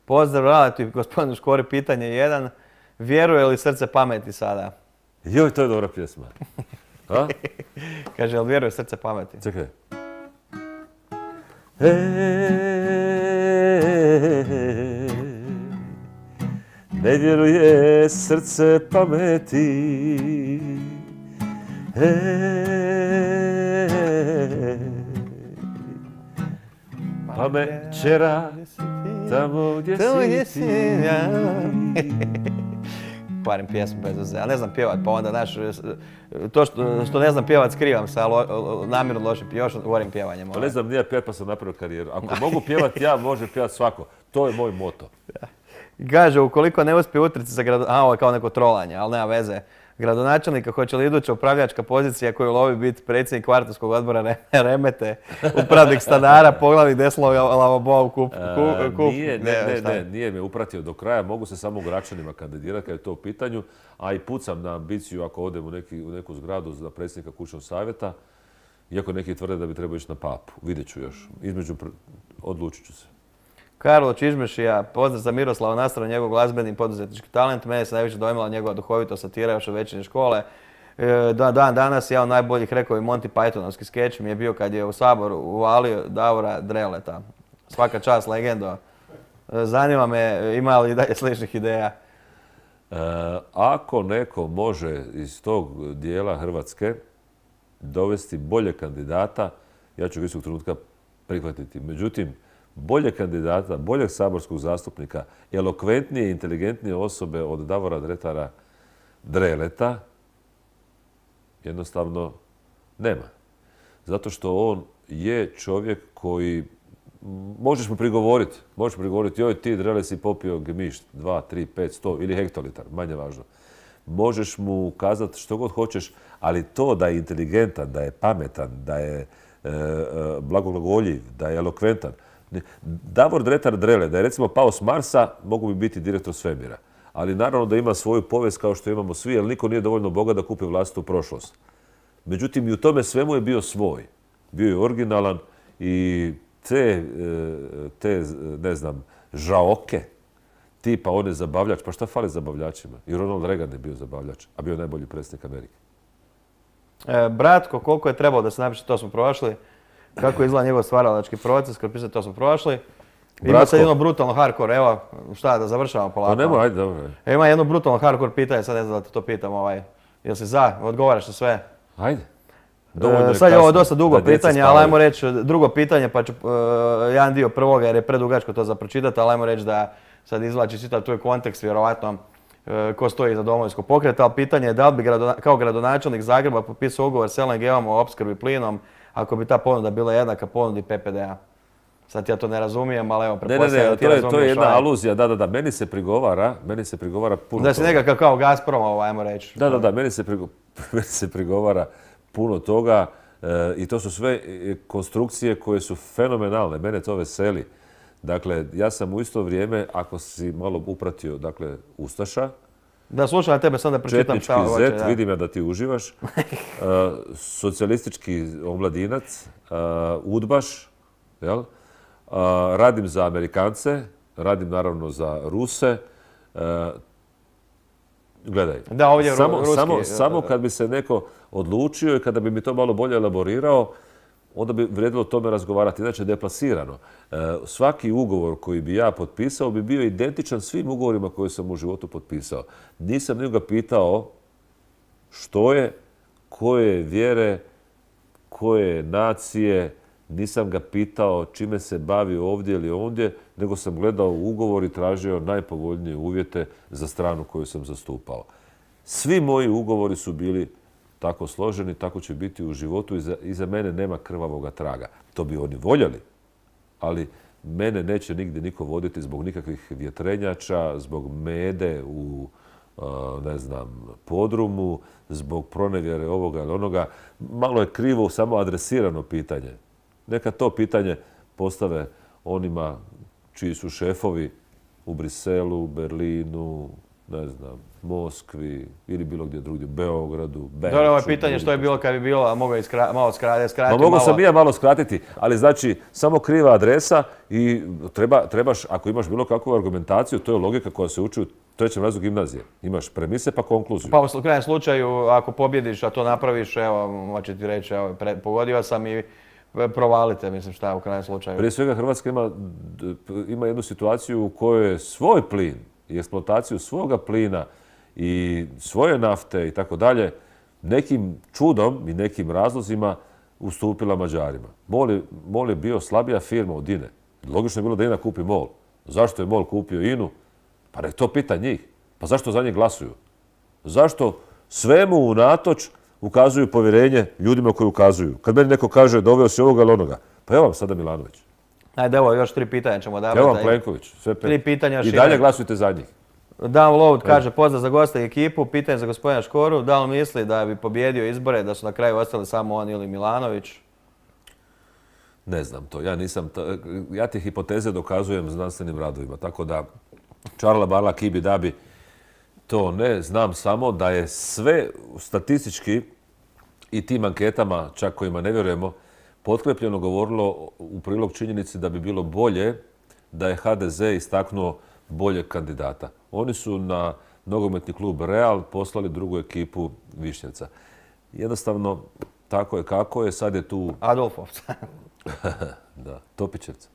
Pozdrav, relativ, gospodinu Škori, pitanje jedan. Vjeruje li srce pameti sada? Joj, to je dobra pjesma. A? Kaže, jel vjeruje srce pameti? Čekaj. E, ne vjeruje srce pameti. E, pamet čera tamo gdje Tamo gdje si si ti. ja. Kvarim pjesmu bez veze, ali ne znam pjevat, pa onda naš, to što, što ne znam pjevat skrivam se, ali lo, namjerno loše još govorim pjevanjem. Pa ne znam, nije pjevat pa sam napravio karijeru. Ako mogu pjevat ja, može pjevat svako. To je moj moto. Kaže, ukoliko ne uspije utrci za grad... A, ovo je kao neko trolanje, ali nema veze. Gradonačelnika, hoće li iduća upravljačka pozicija koju lovi biti predsjednik kvartovskog odbora Re- Remete, upravnik stanara, poglavnik desnog lavabo u kup... E, kup, kup nije, ne, ne, šta je? ne, nije me upratio do kraja. Mogu se samo u Gračanima kandidirati kad je to u pitanju. A i pucam na ambiciju ako odem u, neki, u neku zgradu za predsjednika kućnog savjeta. Iako neki tvrde da bi trebao ići na papu. Vidjet ću još. Između, pr- odlučit ću se. Karlo Čižmešija, pozdrav za Miroslava Nastrana, njegov glazbeni poduzetnički talent. Mene se najviše dojmila njegova duhovitost, satira još od večernje škole. E, da, dan danas jedan od najboljih rekovi Monty Pythonovski skeč mi je bio kad je u Saboru uvalio Davora Dreleta. Svaka čast, legendo. E, zanima me, ima li i dalje sličnih ideja? E, ako neko može iz tog dijela Hrvatske dovesti bolje kandidata, ja ću ga istog trenutka prihvatiti. Međutim, bolje kandidata, boljeg saborskog zastupnika, elokventnije i inteligentnije osobe od Davora Dretara Dreleta jednostavno nema. Zato što on je čovjek koji, možeš mu prigovoriti, možeš mu prigovoriti, joj ti Drele si popio gemišt, dva, tri, pet, sto ili hektolitar, manje važno. Možeš mu kazati što god hoćeš, ali to da je inteligentan, da je pametan, da je e, e, blagoglagoljiv, da je elokventan. Davor Dretar Drele, da je recimo pao s Marsa, mogu bi biti direktor svemira. Ali naravno da ima svoju povijest kao što imamo svi, jer niko nije dovoljno bogat da kupi vlastitu prošlost. Međutim, i u tome svemu je bio svoj. Bio je originalan i te, te ne znam, žaoke, tipa on je zabavljač. Pa šta fali zabavljačima? I Ronald Reagan je bio zabavljač, a bio je najbolji predsjednik Amerike. E, Bratko, koliko je trebalo da se napiše, to smo prošli. Kako izgleda njegov stvaralački proces, kad pisati to smo prošli. Ima Bratko. sad jedno brutalno hardcore, evo, šta, da završavamo polako. Pa nemoj, ajde, dobro. E, ima jedno brutalno hardcore pitanje, sad ne znam da te to pitam, ovaj, jel si za, odgovaraš na sve? Ajde. E, sad je ovo dosta dugo da djeca pitanje, ali spavaju. ajmo reći drugo pitanje, pa ću e, jedan dio prvoga jer je predugačko to za pročitati, ali ajmo reći da sad izvlači čitav tu je kontekst, vjerovatno e, ko stoji iza Domovinskog pokreta, ali pitanje je da li bi gradona, kao gradonačelnik Zagreba potpisao ugovor s L N G-om o opskrbi plinom ako bi ta ponuda bila jednaka ponudi P P D-a. Sad ja to ne razumijem, ali evo, Ne, ne, pretpostavljam ne, da ti to je, razumiješ. to je jedna ovaj, aluzija, da, da, da, meni se prigovara, meni se prigovara puno Da si toga. nekakav kao Gazprom, ovaj, ajmo reći. Da, da, da, meni se, prigo- meni se prigovara puno toga e, i to su sve e, konstrukcije koje su fenomenalne, mene to veseli. Dakle, ja sam u isto vrijeme, ako si malo upratio, dakle, Ustaša, Da, slušam na tebe, sad da pročitam četnički šta hoće. zet, Da. vidim ja da ti uživaš, e, socijalistički omladinac, e, udbaš, jel? E, radim za Amerikance, radim naravno za Ruse. E, gledaj, Da, ovdje je ru- samo, ruski, samo, e, samo kad bi se neko odlučio i kada bi mi to malo bolje elaborirao, onda bi vrijedilo o tome razgovarati. Inače, deplasirano. E, svaki ugovor koji bi ja potpisao bi bio identičan svim ugovorima koje sam u životu potpisao. Nisam nikoga pitao što je, koje vjere, koje nacije, nisam ga pitao čime se bavi ovdje ili ondje, nego sam gledao ugovor i tražio najpovoljnije uvjete za stranu koju sam zastupao. Svi moji ugovori su bili tako složeni, tako će biti u životu. Iza, iza mene nema krvavoga traga. To bi oni voljeli, ali mene neće nigdje niko voditi zbog nikakvih vjetrenjača, zbog mede u ne znam, podrumu, zbog pronevjere ovoga ili onoga. Malo je krivo samo adresirano pitanje. Neka to pitanje postave onima čiji su šefovi u Briselu, Berlinu, ne znam, Moskvi ili bilo gdje drugdje, Beogradu, Beču. Dobro, ovo je pitanje što je bilo kad bi bilo, a mogu iskra, malo skratiti, skratiti Ma mogu malo. sam i ja malo skratiti, ali znači samo kriva adresa i treba, trebaš, ako imaš bilo kakvu argumentaciju, to je logika koja se uči u trećem razredu gimnazije. Imaš premise pa konkluziju. Pa u krajnjem slučaju, ako pobjediš, a to napraviš, evo, moći ti reći, evo, pre, pogodio sam i provalite, mislim šta u krajnjem slučaju. Prije svega Hrvatska ima, ima jednu situaciju u kojoj svoj plin i eksploataciju svoga plina i svoje nafte i tako dalje nekim čudom i nekim razlozima ustupila Mađarima. MOL je, MOL je bio slabija firma od INE. Logično je bilo da INA kupi MOL. Zašto je MOL kupio INU? Pa nek to pita njih. Pa zašto za njih glasuju? Zašto svemu unatoč ukazuju povjerenje ljudima koji ukazuju? Kad meni neko kaže doveo si ovoga ili onoga, pa evo vam sada Milanović. Ajde, evo, još tri pitanja ćemo davati. Evo vam Plenković. Sve pet. Tri pitanja. I dalje glasujte za njih. Download kaže pozdrav za gosta i ekipu, pitanje za gospodina Škoru. Da li misli da bi pobjedio izbore, da su na kraju ostali samo on ili Milanović? Ne znam to. Ja nisam, ja te hipoteze dokazujem znanstvenim radovima. Tako da čarla, barla, kibi, dabi, to ne. Znam samo da je sve statistički i tim anketama, čak kojima ne vjerujemo, potkrepljeno govorilo u prilog činjenici da bi bilo bolje da je ha de ze istaknuo boljeg kandidata. Oni su na nogometni klub Real poslali drugu ekipu Višnjevca. Jednostavno, tako je kako je, sad je tu... Adolfovca. Da, Topićevca.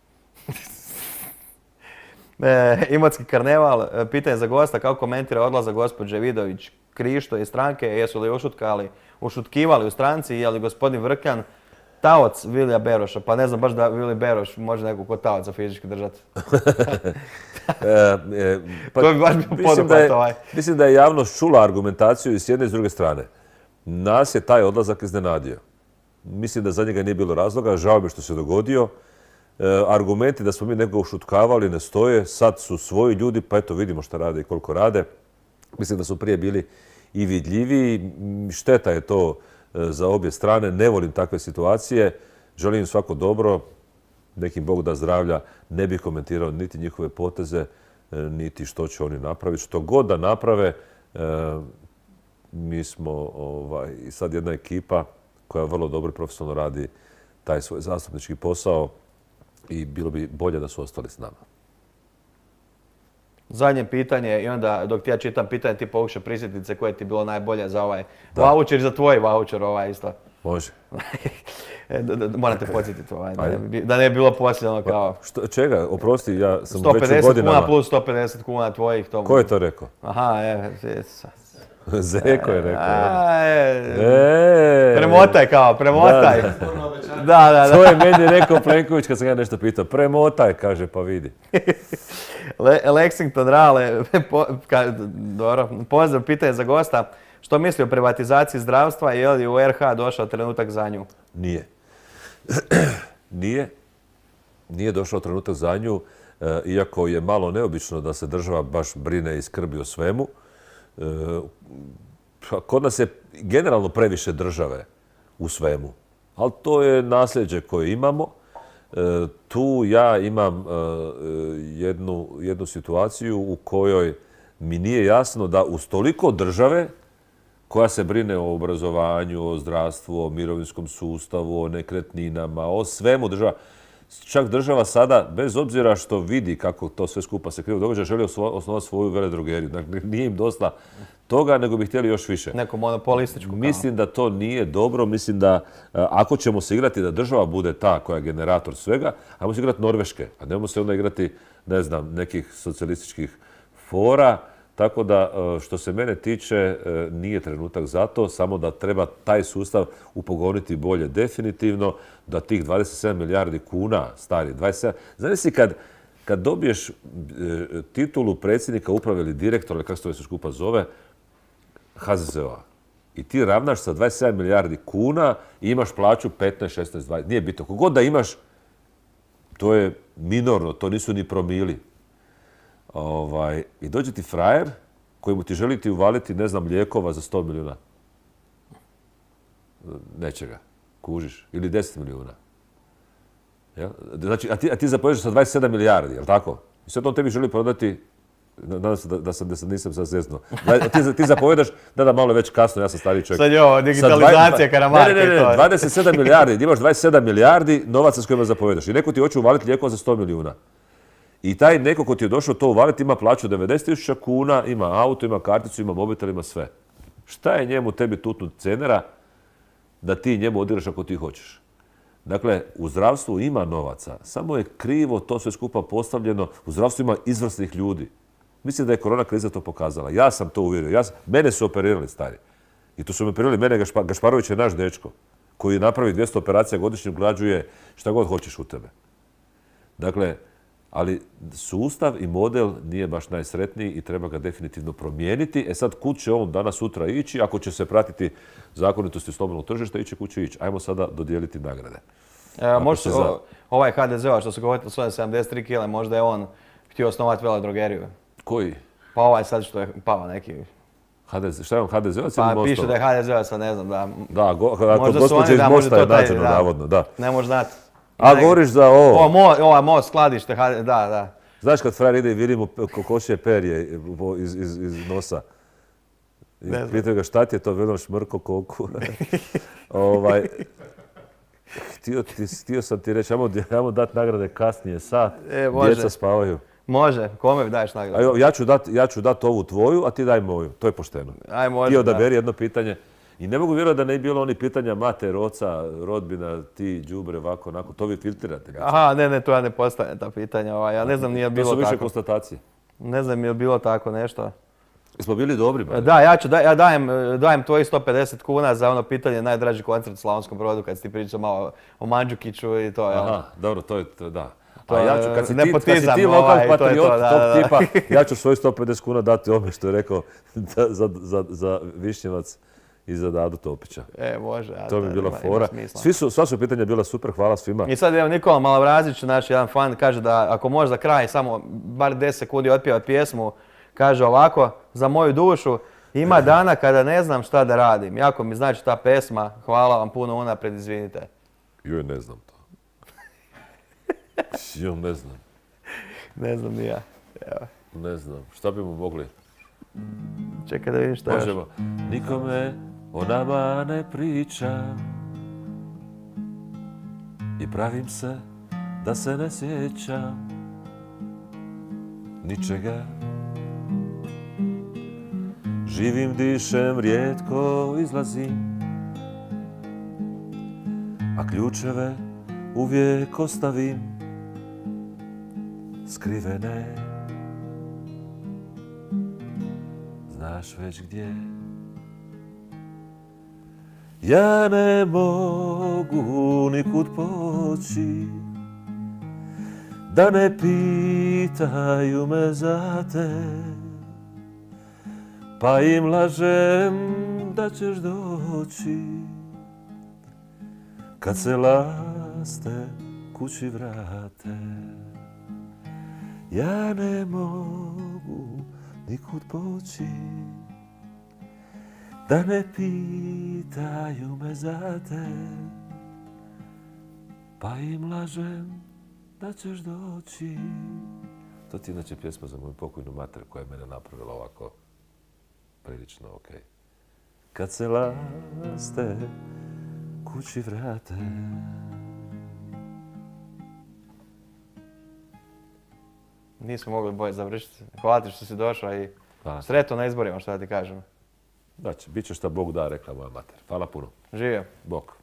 E, Imotski karneval, pitanje za gosta, kako komentira odlazak gospođe Vidović Krišto iz stranke, jesu li ušutkali, ušutkivali u stranci, je li gospodin Vrkljan taoc Vilija Beroša, pa ne znam baš da Vili Beroš može nekog kod taoca fizički držati. e, e, pa, to bi baš bio poduhvat ovaj. Mislim da je javnost čula argumentaciju i s jedne i s druge strane. Nas je taj odlazak iznenadio. Mislim da za njega nije bilo razloga, žao mi što se dogodio. E, argumenti da smo mi nekoga ušutkavali ne stoje, sad su svoji ljudi, pa eto vidimo šta rade i koliko rade. Mislim da su prije bili i vidljiviji. Šteta je to za obje strane. Ne volim takve situacije. Želim im svako dobro. Nekim Bog da zdravlja. Ne bih komentirao niti njihove poteze, niti što će oni napraviti. Što god da naprave, mi smo ovaj, sad jedna ekipa koja vrlo dobro i profesionalno radi taj svoj zastupnički posao i bilo bi bolje da su ostali s nama. Zadnje pitanje i onda dok ti ja čitam pitanje ti pokušaj prisjetiti se koje ti je bilo najbolje za ovaj vaučer i za tvoj vaučer ovaj isto. Može. Moram te podsjetiti ovaj, da, ne, da ne je bilo posljedno kao... Što, čega? Oprosti, ja sam sto pedeset već u godinama. kuna plus sto pedeset kuna tvojih. To... Ko je to rekao? Aha, je, je, Zeko je rekao. A, je. E, premotaj kao, premotaj. Da, da, da. da. To je meni rekao Plenković kad sam ja nešto pitao. Premotaj, kaže, pa vidi. Le, Lexington Rale, po, ka, dobro, pozdrav, pitanje za gosta. Što misli o privatizaciji zdravstva i je li u er ha došao trenutak za nju? Nije. Nije. Nije došao trenutak za nju, iako je malo neobično da se država baš brine i skrbi o svemu. Kod nas je generalno previše države u svemu, ali to je nasljeđe koje imamo. Tu ja imam jednu, jednu situaciju u kojoj mi nije jasno da uz toliko države koja se brine o obrazovanju, o zdravstvu, o mirovinskom sustavu, o nekretninama, o svemu država. Čak država sada, bez obzira što vidi kako to sve skupa se krivo događa, želi osnovati svoju veledrogeriju. Dakle, nije im dosta toga, nego bi htjeli još više. Neku monopolističku. Kao. Mislim da to nije dobro. Mislim da ako ćemo se igrati da država bude ta koja je generator svega, ajmo se igrati Norveške, a nemamo se onda igrati, ne znam, nekih socijalističkih fora. Tako da, što se mene tiče, nije trenutak za to, samo da treba taj sustav upogoniti bolje definitivno, da tih dvadeset sedam milijardi kuna, stari, dvadeset sedam... Znaš si kad, kad dobiješ titulu predsjednika uprave ili direktora, ili kako se to sve skupa zove, ha ze ze o-a, i ti ravnaš sa dvadeset sedam milijardi kuna i imaš plaću petnaest, šesnaest, dvadeset, nije bitno. Kogod da imaš, to je minorno, to nisu ni promili. Ovaj, i dođe ti frajer kojemu ti želi ti uvaliti, ne znam, lijekova za sto milijuna. Nečega. Kužiš. Ili deset milijuna. Ja? Znači, a ti, a ti zapođeš sa dvadeset sedam milijardi, jel tako? I sad on tebi želi prodati Nadam se da, da, sam, da sam nisam sad zeznuo. Ti, ti zapovedaš, da da malo već kasno, ja sam stariji čovjek. Sad je ovo digitalizacija Karamarka ne, ne, ne, i to. dvadeset sedam milijardi, imaš dvadeset sedam milijardi novaca s kojima zapovedaš. I neko ti hoće uvaliti lijekova za sto milijuna. I taj neko ko ti je došao to uvaliti ima plaću devedeset tisuća kuna, ima auto, ima karticu, ima mobitel, ima sve. Šta je njemu tebi tutnut cenera da ti njemu odigraš ako ti hoćeš? Dakle, u zdravstvu ima novaca, samo je krivo to sve skupa postavljeno. U zdravstvu ima izvrsnih ljudi. Mislim da je korona kriza to pokazala. Ja sam to uvjerio. Ja sam, mene su operirali, stari. I to su me operirali. Mene Gašpa, Gašparović je naš dečko koji napravi dvjesto operacija godišnje, ugrađuje šta god hoćeš u tebe. Dakle, ali sustav i model nije baš najsretniji i treba ga definitivno promijeniti. E sad, kud će on danas sutra ići? Ako će se pratiti zakonitosti slobodnog tržišta, iće kud će ići. Ajmo sada dodijeliti nagrade. E, možda za... ovaj ha de ze-ova što se govorilo svoje sedamdeset tri kile, možda je on htio osnovati veledrogeriju. Koji? Pa ovaj sad što je pao neki. ha de ze, šta je on ha de ze-ovac ili Pa Mostova? piše da je ha de ze-ovac, ne znam da... Da, go, kod gospođe iz Mosta je nađeno, navodno, da. Ne možeš znati. A govoriš za ovo? O, mo, ova most, skladište, da, da. Znaš kad frajer ide i vidi mu kokošje perje iz, iz, iz nosa? I pitaju ga šta ti je to, vedom šmrko koku. ovaj, htio, ti, htio sam ti reći, ajmo, ajmo dati nagrade kasnije, sat, e, djeca spavaju. Može, kome daješ nagradu? Ja ću dati ja ću dat ovu tvoju, a ti daj moju, to je pošteno. Aj, može, ti odaberi jedno pitanje. I ne mogu vjerovati da ne bi bilo oni pitanja mater, oca, rodbina, ti, đubre, ovako, onako, to vi filtrirate. Aha, ne, ne, to ja ne postavljam ta pitanja, ovaj, ja ne znam nije bilo tako. To su više konstatacije. Ne znam je bilo tako nešto. Smo bili dobri, ba? Da, ja, ću, da, ja dajem, dajem tvojih sto pedeset kuna za ono pitanje najdraži koncert u Slavonskom Brodu kad si ti pričao malo o Mandžukiću i to. Aha, jel? dobro, to je, to, da. To, a ja ću, kad si ti, kad si ti ovaj, lokal patriot to, da, tog da, da. tipa, ja ću svoj sto pedeset kuna dati ome što je rekao za, za, za, za Višnjevac i za Dadu Topića. E, može. A to mi je bila ima, fora. ima Svi su, sva su pitanja bila super, hvala svima. I sad evo Nikola Malavrazić, naš jedan fan, kaže da ako može za kraj samo bar deset sekundi otpjevati pjesmu, kaže ovako, za moju dušu, ima dana kada ne znam šta da radim. Jako mi znači ta pesma, hvala vam puno unaprijed, izvinite. Joj, ne znam to. Joj, ne znam. Ne znam ni ja. Evo. Ne znam, šta bi mu mogli? Čekaj da vidim šta Možemo. još. Nikome o nama ne pričam i pravim se da se ne sjećam ničega. Živim, dišem, rijetko izlazim, a ključeve uvijek ostavim skrivene. Znaš već gdje? Ja ne mogu nikud poći, da ne pitaju me za te, pa im lažem da ćeš doći kad se laste kući vrate. Ja ne mogu nikud poći, da ne pitaju me za te, pa im lažem da ćeš doći. To ti je inače pjesma za moju pokojnu mater koja je mene napravila ovako prilično okej. Kad se laste kući vrate. Nismo mogli bolje završiti. Hvala ti što si došao i sretno na izborima, što da ti kažem. Znači, bit će šta Bog da, rekla moja mater. Hvala puno. Živio. Bog.